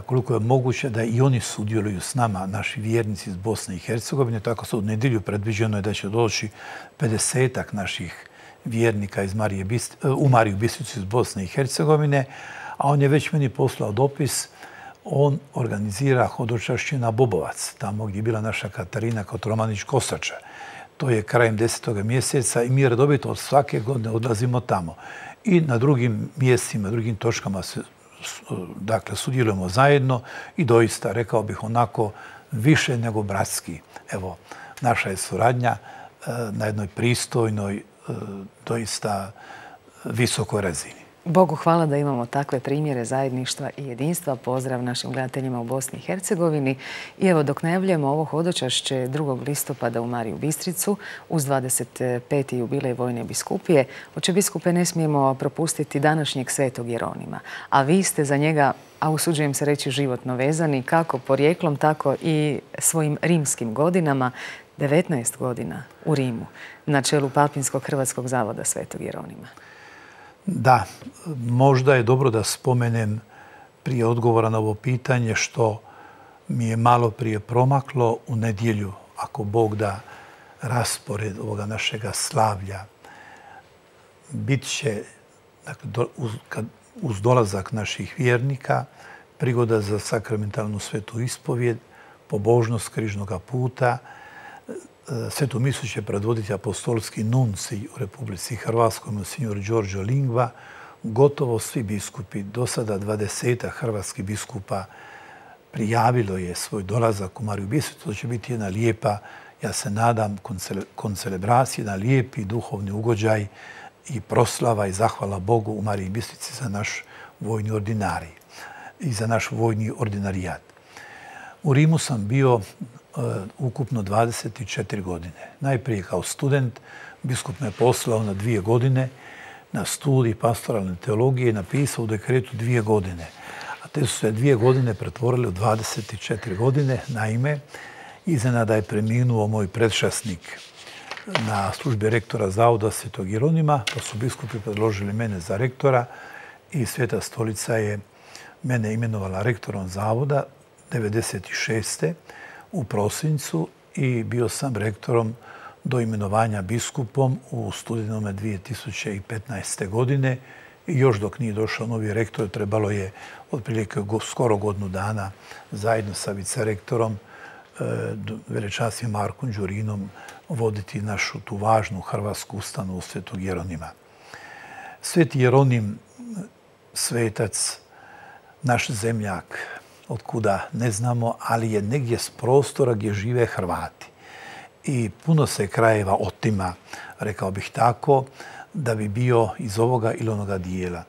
koliko je moguće da i oni sudjeluju s nama, naši vjernici iz Bosne i Hercegovine. Tako se u nedjelju predviđeno je da će doći pedesetak naših vjernika iz Marije Bist, u Mariju Bistricu iz Bosne i Hercegovine, A on je već meni poslao dopis. On organizira hodočašće na Bobovac, tamo gdje je bila naša Katarina Kotromanić-Kosača. To je krajem desetog mjeseca i mi redovito od svake godine odlazimo tamo. I na drugim mjestima, drugim točkama se, dakle, sudjelujemo zajedno i doista, rekao bih onako, više nego bratski. Evo, naša je suradnja na jednoj pristojnoj, doista visokoj razini. Bogu hvala da imamo takve primjere zajedništva i jedinstva. Pozdrav našim gledateljima u Bosni i Hercegovini. I evo, dok najavljujemo ovo hodočašće drugog listopada u Mariju Bistricu uz dvadeset peti jubilej Vojne biskupije, oče biskupe, ne smijemo propustiti današnjeg svetog Jeronima. A vi ste za njega, a usuđujem se reći, životno vezani, kako porijeklom, tako i svojim rimskim godinama. devetnaest godina u Rimu na čelu Papinskog Hrvatskog zavoda svetog Jeronima. Da, možda je dobro da spomenem prije odgovora na ovo pitanje što mi je malo prije promaklo u nedjelju, ako Bog da, raspored ovoga našega slavlja. Bit će, dakle, do, uz, kad, uz dolazak naših vjernika, prigoda za sakramentalnu svetu ispovjed, pobožnost križnoga puta. Svetu misu će predvoditi apostolski nuncij u Republici Hrvatskoj, monsignor Đorđo Lingva. Gotovo svi biskupi, do sada dvadesetak hrvatskih biskupa, prijavilo je svoj dolazak u Mariju Bistricu. To će biti jedna lijepa, ja se nadam, koncelebracija, jedan lijepi duhovni ugođaj i proslava i zahvala Bogu u Mariji Bistrici za naš vojni ordinarij i za naš vojni ordinarijat. U Rimu sam bio ukupno dvadeset četiri godine. Najprije kao student, biskup me poslao na dvije godine na studij pastoralne teologije i napisao u dekretu dvije godine. A te su se dvije godine pretvorile u dvadeset četiri godine. Naime, iznenada je preminuo moj predšasnik na službi rektora Zavoda svetog Jeronima, pa su biskupi predložili mene za rektora i Sveta stolica je mene imenovala rektorom Zavoda devedeset šeste u prosincu i bio sam rektorom do imenovanja biskupom u studenome dvije tisuće petnaeste. godine. I još dok nije došao novi rektor, trebalo je otprilike skoro godinu dana zajedno sa vicerektorom, velečasnim Markom Đurinom, voditi našu tu važnu hrvatsku ustanovu svetog Jeronima. Sveti Jeronim, svetac, naš zemljak, otkuda ne znamo, ali je negdje s prostora gdje žive Hrvati. I puno se krajeva otima, rekao bih tako, da bi bio iz ovoga ili onoga dijela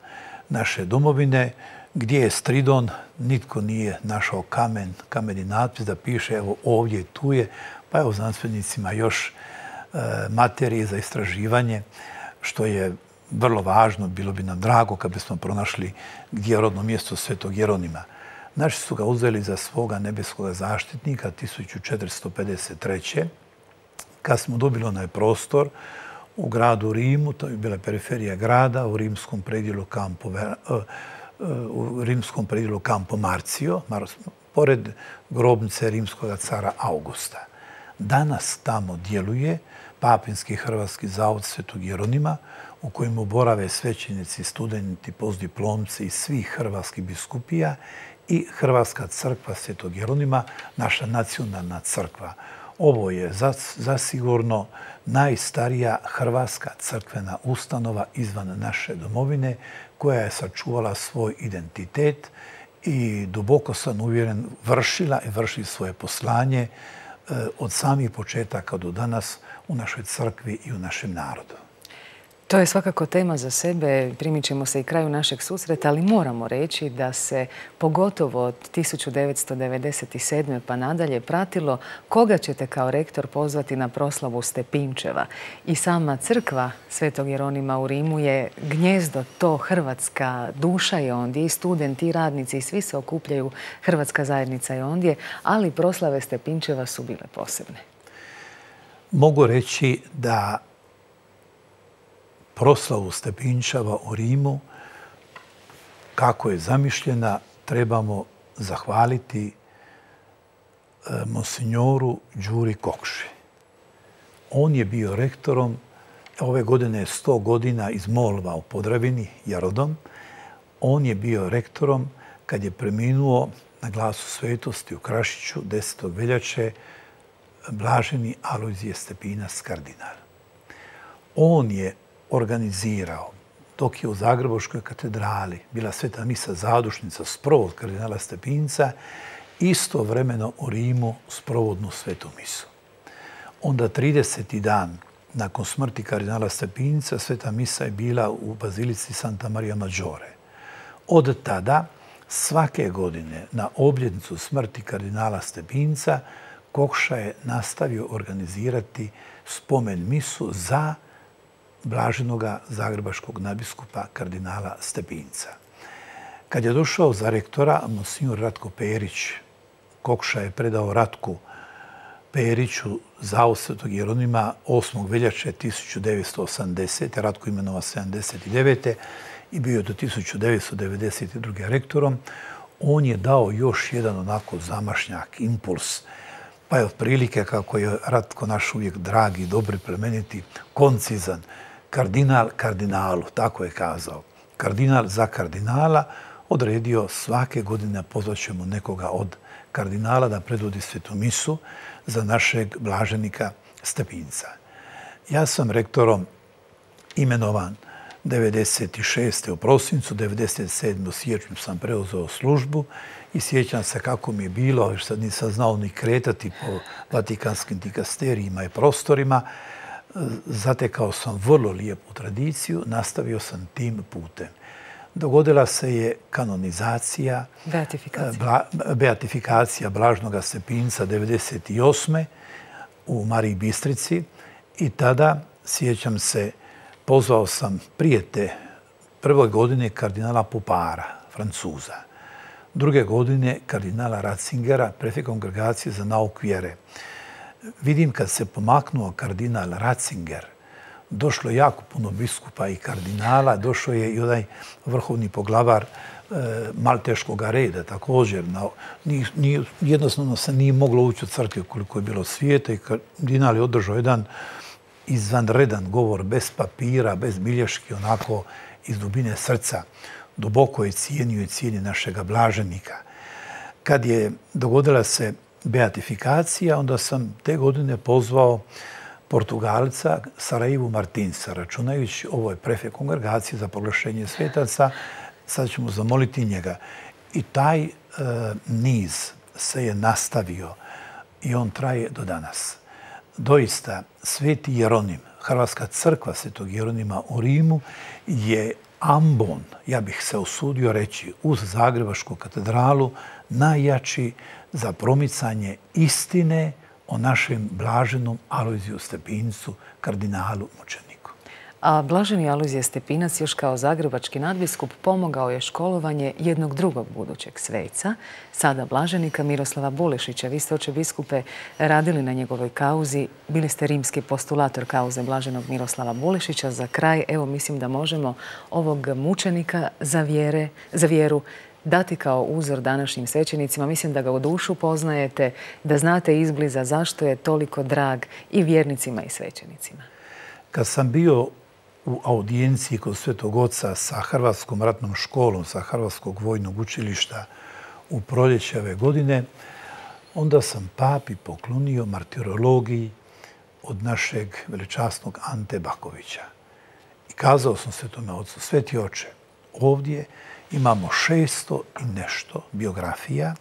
naše domovine, gdje je Stridon, nitko nije našao kamen, kameni natpis da piše evo ovdje i tu je, pa evo znanstvenicima još e, materije za istraživanje, što je vrlo važno, bilo bi nam drago kad bismo pronašli gdje je rodno mjesto svetog Jeronima. Naši su ga uzeli za svoga nebeskog zaštitnika tisuću četiristo pedeset treće. Kad smo dobili onaj prostor u gradu Rimu, to je bila periferija grada, u rimskom predjelu Campo, u rimskom predjelu Campo Marcio, pored grobnice rimskog cara Augusta. Danas tamo djeluje Papinski Hrvatski zavod svetog Jeronima, u kojemu borave svećenici, studenti, postdiplomci i svih hrvatskih biskupija i Hrvatska crkva svetog Jeronima, naša nacionalna crkva. Ovo je zasigurno najstarija hrvatska crkvena ustanova izvan naše domovine koja je sačuvala svoj identitet i duboko sam uvjeren vršila i vrši svoje poslanje od samih početaka do danas u našoj crkvi i u našem narodu. To je svakako tema za sebe, primit ćemo se i kraju našeg susreta, ali moramo reći da se pogotovo od tisuću devetsto devedeset sedme pa nadalje pratilo koga ćete kao rektor pozvati na proslavu Stepinčeva. I sama crkva svetog Jeronima u Rimu je gnjezdo, to hrvatska duša je ondje, i studenti, i radnici, i svi se okupljaju, hrvatska zajednica je ondje, ali proslave Stepinčeva su bile posebne. Mogu reći da proslavu Stepinčeva u Rimu, kako je zamišljena, trebamo zahvaliti monsignoru Đuri Kokši. On je bio rektorom, ove godine je sto godina iz Molva u Podravini, Jarodom. On je bio rektorom kad je preminuo na Glasu svetosti u Krašiću desetog veljače blaženi Alojzije Stepinac kardinal. On je organizirao, dok je u Zagrebačkoj katedrali bila sveta misa zadušnica sprovod kardinala Stepinca, istovremeno u Rimu sprovodnu svetu misu. Onda trideseti dan nakon smrti kardinala Stepinca sveta misa je bila u bazilici Santa Maria Maggiore. Od tada, svake godine na obljetnicu smrti kardinala Stepinca, Kokša je nastavio organizirati spomen misu za blaženoga zagrebačkog nadbiskupa kardinala Stepinca. Kad je došao za rektora, monsignor Ratko Perić, Kokša je predao Ratku Periću zavod Svetog Jeronima osmog veljače tisuću devetsto osamdesete. Ratko imenova sedamdeset devete i bio je do tisuću devetsto devedeset druge rektorom. On je dao još jedan onako zamašnjak, impuls, pa je otprilike, kako je Ratko naš uvijek dragi, dobri, plemeniti, koncizan, kardinal kardinalu, tako je kazao. Kardinal za kardinala odredio svake godine pozvaćemo nekoga od kardinala da predvodi svetu misu za našeg blaženika Stepinca. Ja sam rektorom imenovan devedeset šeste u prosincu, devedeset sedme u siječnju sam preuzeo službu i sjećam se kako mi je bilo, jer sad nisam znao ni kretati po vatikanskim dikasterijima i prostorima. Zatekao sam vrlo lijepu tradiciju, nastavio sam tim putem. Dogodila se je kanonizacija, beatifikacija, beatifikacija blaženoga Stepinca devedeset osme u Mariji Bistrici i tada, sjećam se, pozvao sam prije te prve godine kardinala Pupara, Francuza, druge godine kardinala Ratzingera, prefekt Kongregacije za nauk vjere. Vidim kad se pomaknuo kardinal Ratzinger, došlo je jako puno biskupa i kardinala, došao je i onaj vrhovni poglavar e, malteškog reda također. Na, ni, ni, jednostavno se nije moglo ući u crkve koliko je bilo svijeta i kardinal je održao jedan izvanredan govor, bez papira, bez bilješki, onako iz dubine srca. Duboko je cijenio i cijeni našega blaženika. Kad je dogodila se beatifikacija, onda sam te godine pozvao Portugalca Saraivu Martinsa, računajući ovo je prefekt Kongregacije za proglašenje svetaca, sad ćemo zamoliti njega. I taj e, niz se je nastavio i on traje do danas. Doista, Sveti Jeronim, Hrvatska crkva Svetog Jeronima u Rimu je ambon, ja bih se usudio reći, uz Zagrebačku katedralu, najjači za promicanje istine o našem blaženom Alojziju Stepincu, kardinalu mučeniku. A blaženi Alojzije Stepinac još kao zagrebački nadbiskup pomogao je školovanje jednog drugog budućeg sveca, sada blaženika Miroslava Bulešića. Vi ste, oče biskupe, radili na njegovoj kauzi, bili ste rimski postulator kauze blaženog Miroslava Bulešića. Za kraj, evo, mislim da možemo ovog mučenika za, vjere, za vjeru dati kao uzor današnjim svećenicima. Mislim da ga u dušu poznajete, da znate izbliza zašto je toliko drag i vjernicima i svećenicima. Kad sam bio u audijenciji kod Svetog Oca sa Hrvatskom ratnom školom, sa Hrvatskog vojnog učilišta u proljeće ove godine, onda sam papi poklonio martirologiji od našeg veličasnog Ante Bakovića. I kazao sam Svetome Ocu, Sveti Oče, ovdje imamo šesto i nešto biografija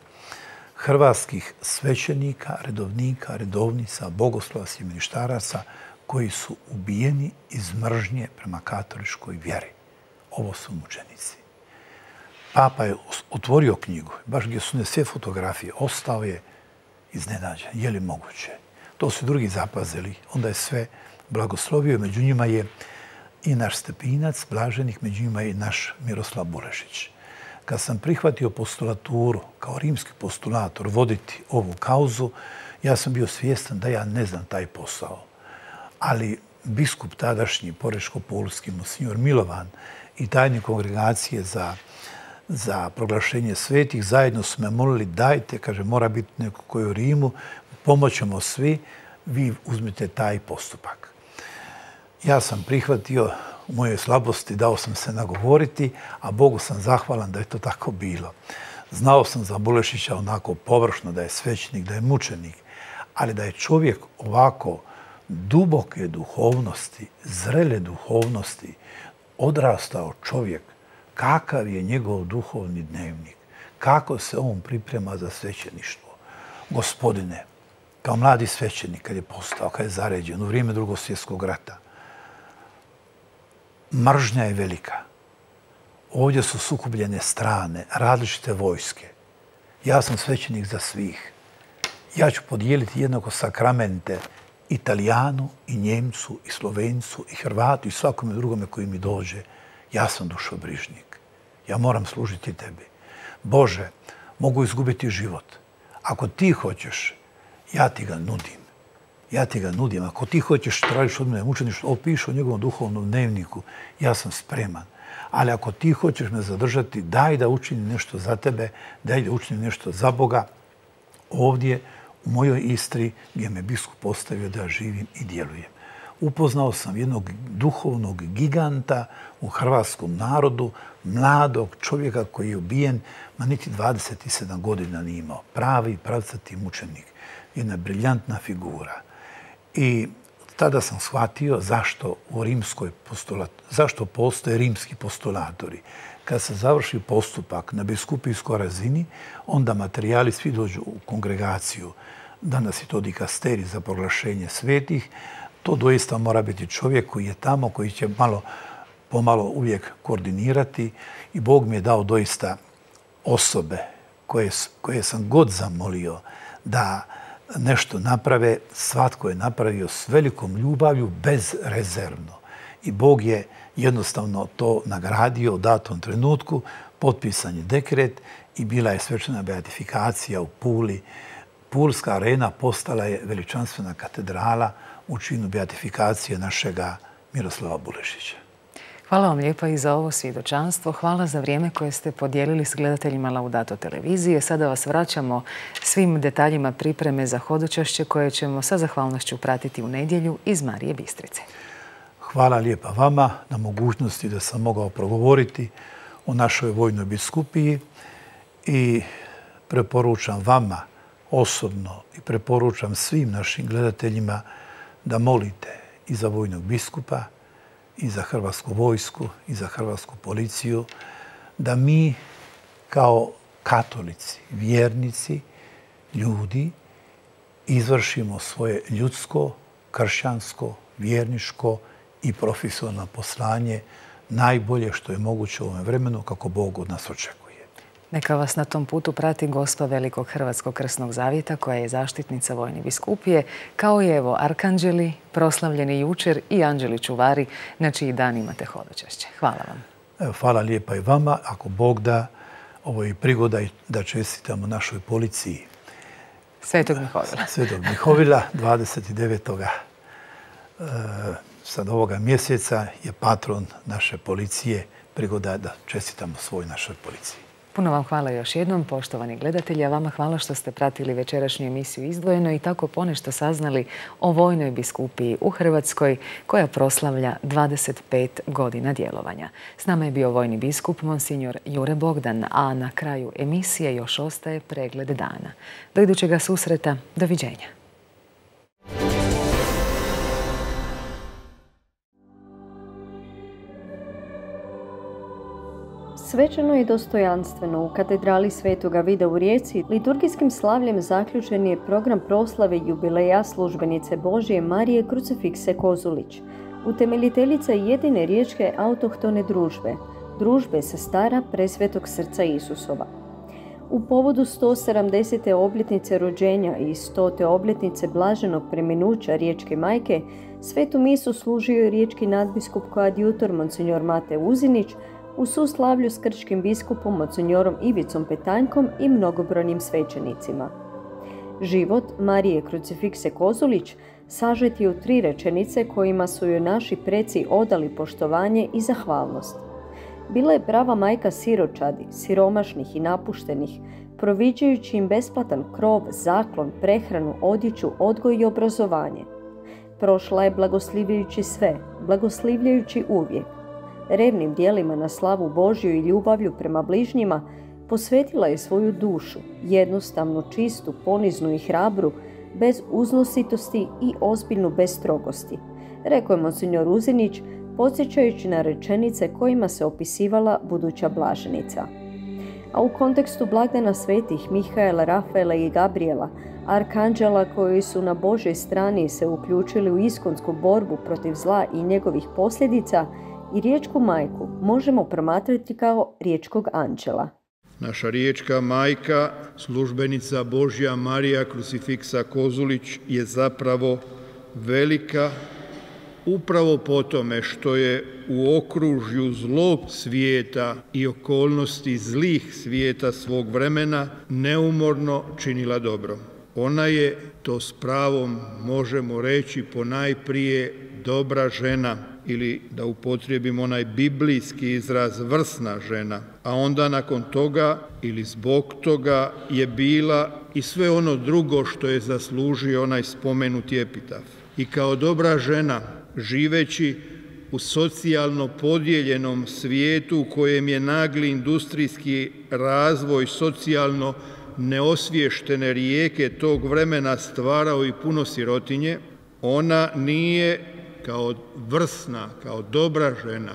hrvatskih svećenika, redovnika, redovnica, bogoslova, sjemeništaraca koji su ubijeni iz mržnje prema katoličkoj vjeri. Ovo su mučenici. Papa je otvorio knjigu, baš gdje su ne sve fotografije, ostao je iznenađen. Je li moguće? To su drugi zapazili. Onda je sve blagoslovio. Među njima je i naš Stepinac, blaženik, među njima je i naš Miroslav Bulešić. Kad sam prihvatio postulaturu, kao rimski postulator, voditi ovu kauzu, ja sam bio svjestan da ja ne znam taj posao. Ali biskup tadašnji, porečko-pulski, monsignor Milovan i tajnik kongregacije za, za proglašenje svetih, zajedno su me molili, dajte, kaže, mora biti neko koji u Rimu, pomoćemo svi, vi uzmite taj postupak. Ja sam prihvatio, u mojoj slabosti dao sam se nagovoriti, a Bogu sam zahvalan da je to tako bilo. Znao sam za Bulešića onako površno da je svećenik, da je mučenik, ali da je čovjek ovako duboke duhovnosti, zrele duhovnosti, odrastao čovjek, kakav je njegov duhovni dnevnik, kako se on priprema za svećeništvo. Gospodine, kao mladi svećenik, kad je postao, kad je zaređen u vrijeme Drugog svjetskog rata, mržnja je velika. Ovdje su sukobljene strane, različite vojske. Ja sam svećenik za svih. Ja ću podijeliti jednako sakramente Italijanu i Njemcu i Slovencu i Hrvatu i svakome drugome koji mi dođe. Ja sam dušobrižnik. Ja moram služiti tebi. Bože, mogu izgubiti život. Ako ti hoćeš, ja ti ga nudim. Ja ti ga nudim. Ako ti hoćeš tražiš od mene mučeništvo, opiši u njegovom duhovnom dnevniku, ja sam spreman. Ali ako ti hoćeš me zadržati, daj da učinim nešto za tebe, daj da učinim nešto za Boga. Ovdje, u mojoj Istri, gdje me biskup postavio da živim i djelujem. Upoznao sam jednog duhovnog giganta u hrvatskom narodu, mladog čovjeka koji je ubijen, ma niti dvadeset sedam godina nije imao. Pravi, pravcati mučenik. Jedna briljantna figura. I tada sam shvatio zašto u rimskoj postulat, zašto postoje rimski postulatori. Kad se završi postupak na biskupijskoj razini, onda materijali svi dođu u kongregaciju. Danas je to dikasterij za proglašenje svetih. To doista mora biti čovjek koji je tamo, koji će malo pomalo uvijek koordinirati. I Bog mi je dao doista osobe koje, koje sam god zamolio da nešto naprave, svatko je napravio s velikom ljubavlju, bezrezervno. I Bog je jednostavno to nagradio u datom trenutku, potpisan je dekret i bila je svečana beatifikacija u Puli. Pulska arena postala je veličanstvena katedrala u činu beatifikacije našega Miroslava Bulešića. Hvala vam lijepa i za ovo svjedočanstvo. Hvala za vrijeme koje ste podijelili s gledateljima Laudato televizije. Sada vas vraćamo svim detaljima pripreme za hodočašće koje ćemo sa zahvalnošću pratiti u nedjelju iz Marije Bistrice. Hvala lijepa vama na mogućnosti da sam mogao progovoriti o našoj vojnoj biskupiji i preporučam vama osobno i preporučam svim našim gledateljima da molite i za vojnog biskupa, i za hrvatsku vojsku, i za hrvatsku policiju, da mi kao katolici, vjernici, ljudi, izvršimo svoje ljudsko, kršćansko, vjerniško i profesionalno poslanje najbolje što je moguće u ovom vremenu kako Bog od nas očekuje. Neka vas na tom putu prati Gospa Velikog Hrvatskog krsnog zavjeta koja je zaštitnica vojne biskupije, kao i evo arkanđeli, proslavljeni jučer i anđeli čuvari na čiji dan imate hodočašće. Hvala vam. Evo, hvala lijepa i vama. Ako Bog da, ovo je prigoda da čestitamo našoj policiji. Svetog Mihovila. Svetog Mihovila, dvadeset devetog sad ovoga mjeseca je patron naše policije, prigoda da čestitamo svoj našoj policiji. Puno vam hvala još jednom, poštovani gledatelji, a vama hvala što ste pratili večerašnju emisiju Izdvojeno i tako ponešto saznali o vojnoj biskupiji u Hrvatskoj koja proslavlja dvadeset pet godina djelovanja. S nama je bio vojni biskup Monsinjor Jure Bogdan, a na kraju emisije još ostaje pregled dana. Do idućega susreta, doviđenja. Svečano i dostojanstveno u katedrali Svetoga Vida u Rijeci liturgijskim slavljem zaključen je program proslave jubileja službenice Božje Marije Krucifikse Kozulić, utemeljiteljica jedine riječke autohtone družbe, družbe sestara Presvetog srca Isusova. U povodu sto sedamdesete obljetnice rođenja i stote obljetnice blaženog preminuća riječke majke, svetu misu služio je riječki nadbiskup koadjutor Monsinjor Mate Uzinić, u suslavlju s krčkim biskupom Monsinjorom Ivicom Petanjkom i mnogobrojnim svećenicima. Život Marije Krucifikse Kozulić sažet je u tri rečenice kojima su joj naši preci odali poštovanje i zahvalnost. Bila je prava majka siročadi, siromašnih i napuštenih, proviđajući im besplatan krov, zaklon, prehranu, odjeću, odgoj i obrazovanje. Prošla je blagoslivljajući sve, blagoslivljajući uvijek. revnim dijelima na slavu Božju i ljubavlju prema bližnjima, posvetila je svoju dušu, jednostavnu, čistu, poniznu i hrabru, bez uznositosti i ozbiljnu bez strogosti, rekao je monsignor Uzinić, podsjećajući na rečenice kojima se opisivala buduća blaženika. A u kontekstu blagdana svetih Mihaela, Rafaela i Gabriela, arkanđela koji su na Božoj strani se uključili u iskonsku borbu protiv zla i njegovih posljedica, i riječku majku možemo promatrati kao riječkog anđela. Naša riječka majka, službenica Božja Marija Krucifiksa Kozulić, je zapravo velika upravo po tome što je u okružju zlog svijeta i okolnosti zlih svijeta svog vremena neumorno činila dobro. Ona je, to s pravom možemo reći, ponajprije dobra žena, ili da upotrijebim onaj biblijski izraz vrsna žena, a onda nakon toga ili zbog toga je bila i sve ono drugo što je zaslužio onaj spomenuti epitaf. I kao dobra žena, živeći u socijalno podijeljenom svijetu u kojem je nagli industrijski razvoj socijalno neosviještene rijeke tog vremena stvarao i puno sirotinje, ona nije kao vrsna, kao dobra žena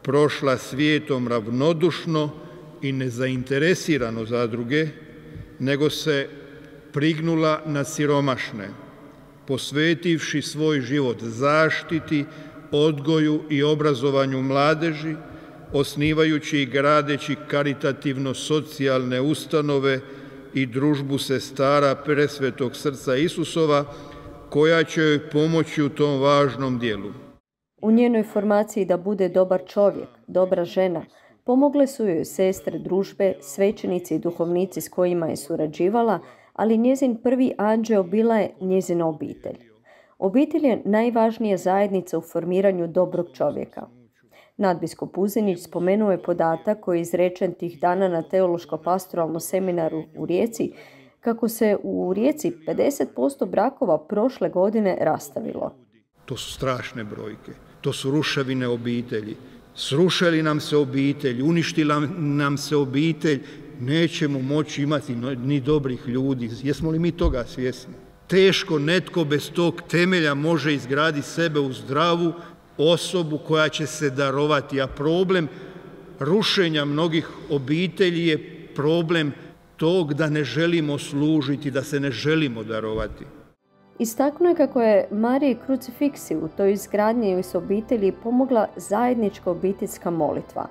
prošla svijetom ravnodušno i nezainteresirano za druge, nego se prignula na siromašne, posvetivši svoj život zaštiti, odgoju i obrazovanju mladeži, osnivajući i gradeći karitativno-socijalne ustanove i družbu sestara Presvetog srca Isusova, koja će joj pomoći u tom važnom dijelu. U njenoj formaciji da bude dobar čovjek, dobra žena, pomogle su joj sestre družbe, svećenici i duhovnici s kojima je surađivala, ali njezin prvi anđeo bila je njezina obitelj. Obitelj je najvažnija zajednica u formiranju dobrog čovjeka. Nadbiskup Uzinić spomenuo je podatak koji je izrečen tih dana na teološko-pastoralnom seminaru u Rijeci, kako se u Rijeci pedeset posto brakova prošle godine rastavilo. To su strašne brojke, to su ruševine obitelji. Srušili nam se obitelj, uništila nam se obitelj, nećemo moći imati ni dobrih ljudi. Jesmo li mi toga svjesni? Teško netko bez tog temelja može izgraditi sebe u zdravu osobu koja će se darovati, a problem rušenja mnogih obitelji je problem tog da ne želimo služiti, da se ne želimo darovati. Istaknuo je kako je Mariji Krucifiksi u toj izgradnji s obitelji pomogla zajednička obiteljska molitva.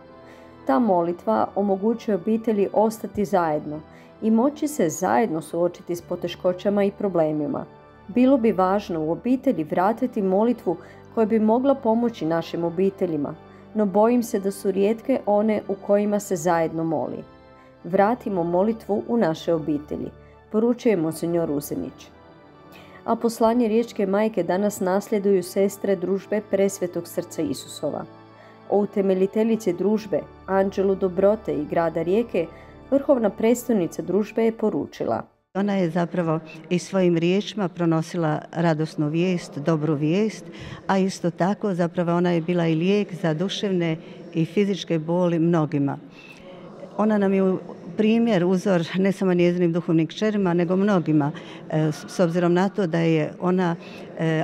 Ta molitva omogućuje obitelji ostati zajedno i moći se zajedno suočiti s poteškoćama i problemima. Bilo bi važno u obitelji vratiti molitvu koja bi mogla pomoći našim obiteljima, no bojim se da su rijetke one u kojima se zajedno moli. Vratimo molitvu u naše obitelji, poručuje monsignor Uzinić. A poslanje Riječke majke danas nasljeduju sestre družbe Presvetog srca Isusova. O utemeljiteljici družbe, Anđelu dobrote i grada Rijeke, vrhovna predstavnica družbe je poručila: ona je zapravo i svojim riječima pronosila radosnu vijest, dobru vijest, a isto tako zapravo ona je bila i lijek za duševne i fizičke boli mnogima. Ona nam je primjer, uzor ne samo njezinim duhovnim kćerima, nego mnogima, s obzirom na to da je ona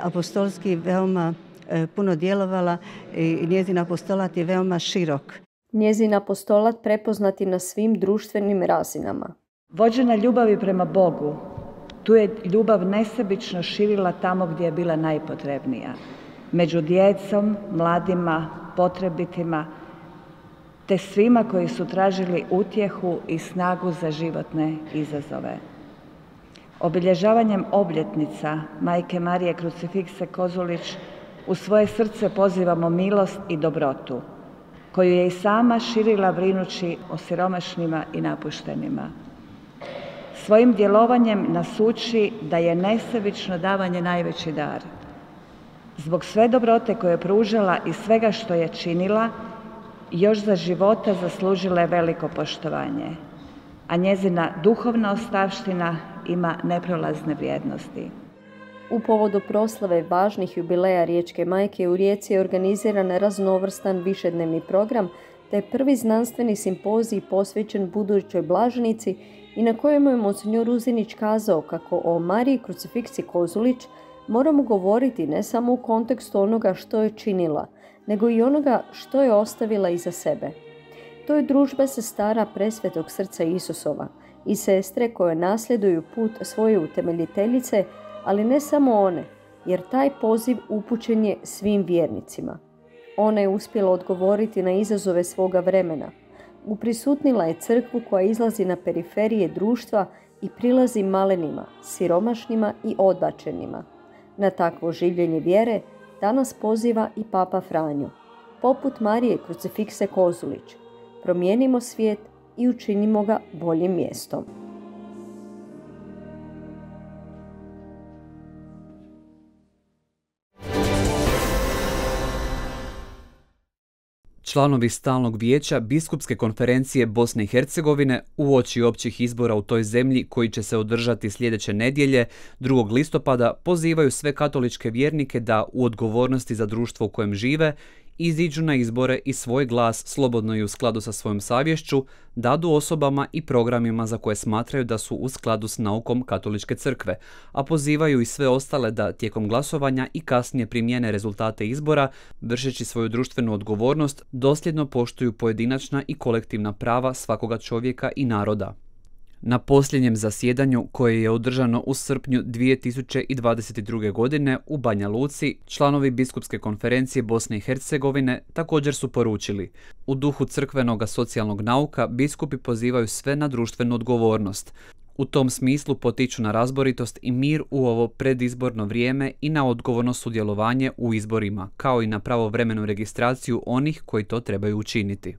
apostolski veoma puno djelovala i njezin apostolat je veoma širok. Njezin apostolat prepoznati na svim društvenim razinama. Vođena ljubavi prema Bogu, tu je ljubav nesebično širila tamo gdje je bila najpotrebnija. Među djecom, mladima, potrebitima, te svima koji su tražili utjehu i snagu za životne izazove. Obilježavanjem obljetnica Majke Marije Krucifikse Kozulić u svoje srce pozivamo milost i dobrotu, koju je i sama širila brinući o siromašnima i napuštenima. Svojim djelovanjem nas uči da je nesebično davanje najveći dar. Zbog sve dobrote koje je pružala i svega što je činila, još za života zaslužila je veliko poštovanje, a njezina duhovna ostavština ima neprolazne vrijednosti. U povodu proslave važnih jubileja Riječke majke u Rijeci je organiziran raznovrstan višednevni program te prvi znanstveni simpozij posvećen budućoj blaženici i na kojem je monsinjor Uzinić kazao kako o Mariji Krucifiksiji Kozulić moramo govoriti ne samo u kontekstu onoga što je činila, nego i onoga što je ostavila iza sebe. To je družba sestara Presvetog srca Isusova i sestre koje nasljeduju put svoje utemeljiteljice, ali ne samo one, jer taj poziv upućen je svim vjernicima. Ona je uspjela odgovoriti na izazove svoga vremena. Uprisutnila je crkvu koja izlazi na periferije društva i prilazi malenima, siromašnima i odbačenima. Na takvo življenje vjere danas poziva i Papa Franjo. Poput Marije Krucifikse Kozulić, promijenimo svijet i učinimo ga boljim mjestom. Članovi Stalnog vijeća Biskupske konferencije Bosne i Hercegovine uoči općih izbora u toj zemlji koji će se održati sljedeće nedjelje, drugog listopada, pozivaju sve katoličke vjernike da u odgovornosti za društvo u kojem žive iziđu na izbore i svoj glas, slobodno i u skladu sa svojom savješću, dadu osobama i programima za koje smatraju da su u skladu s naukom Katoličke crkve, a pozivaju i sve ostale da tijekom glasovanja i kasnije primijene rezultate izbora, vršeći svoju društvenu odgovornost, dosljedno poštuju pojedinačna i kolektivna prava svakoga čovjeka i naroda. Na posljednjem zasjedanju, koje je održano u srpnju dvije tisuće dvadeset druge. godine u Banja Luci, članovi Biskupske konferencije Bosne i Hercegovine također su poručili: u duhu crkvenog socijalnog nauka biskupi pozivaju sve na društvenu odgovornost. U tom smislu potiču na razboritost i mir u ovo predizborno vrijeme i na odgovorno sudjelovanje u izborima, kao i na pravovremenu registraciju onih koji to trebaju učiniti.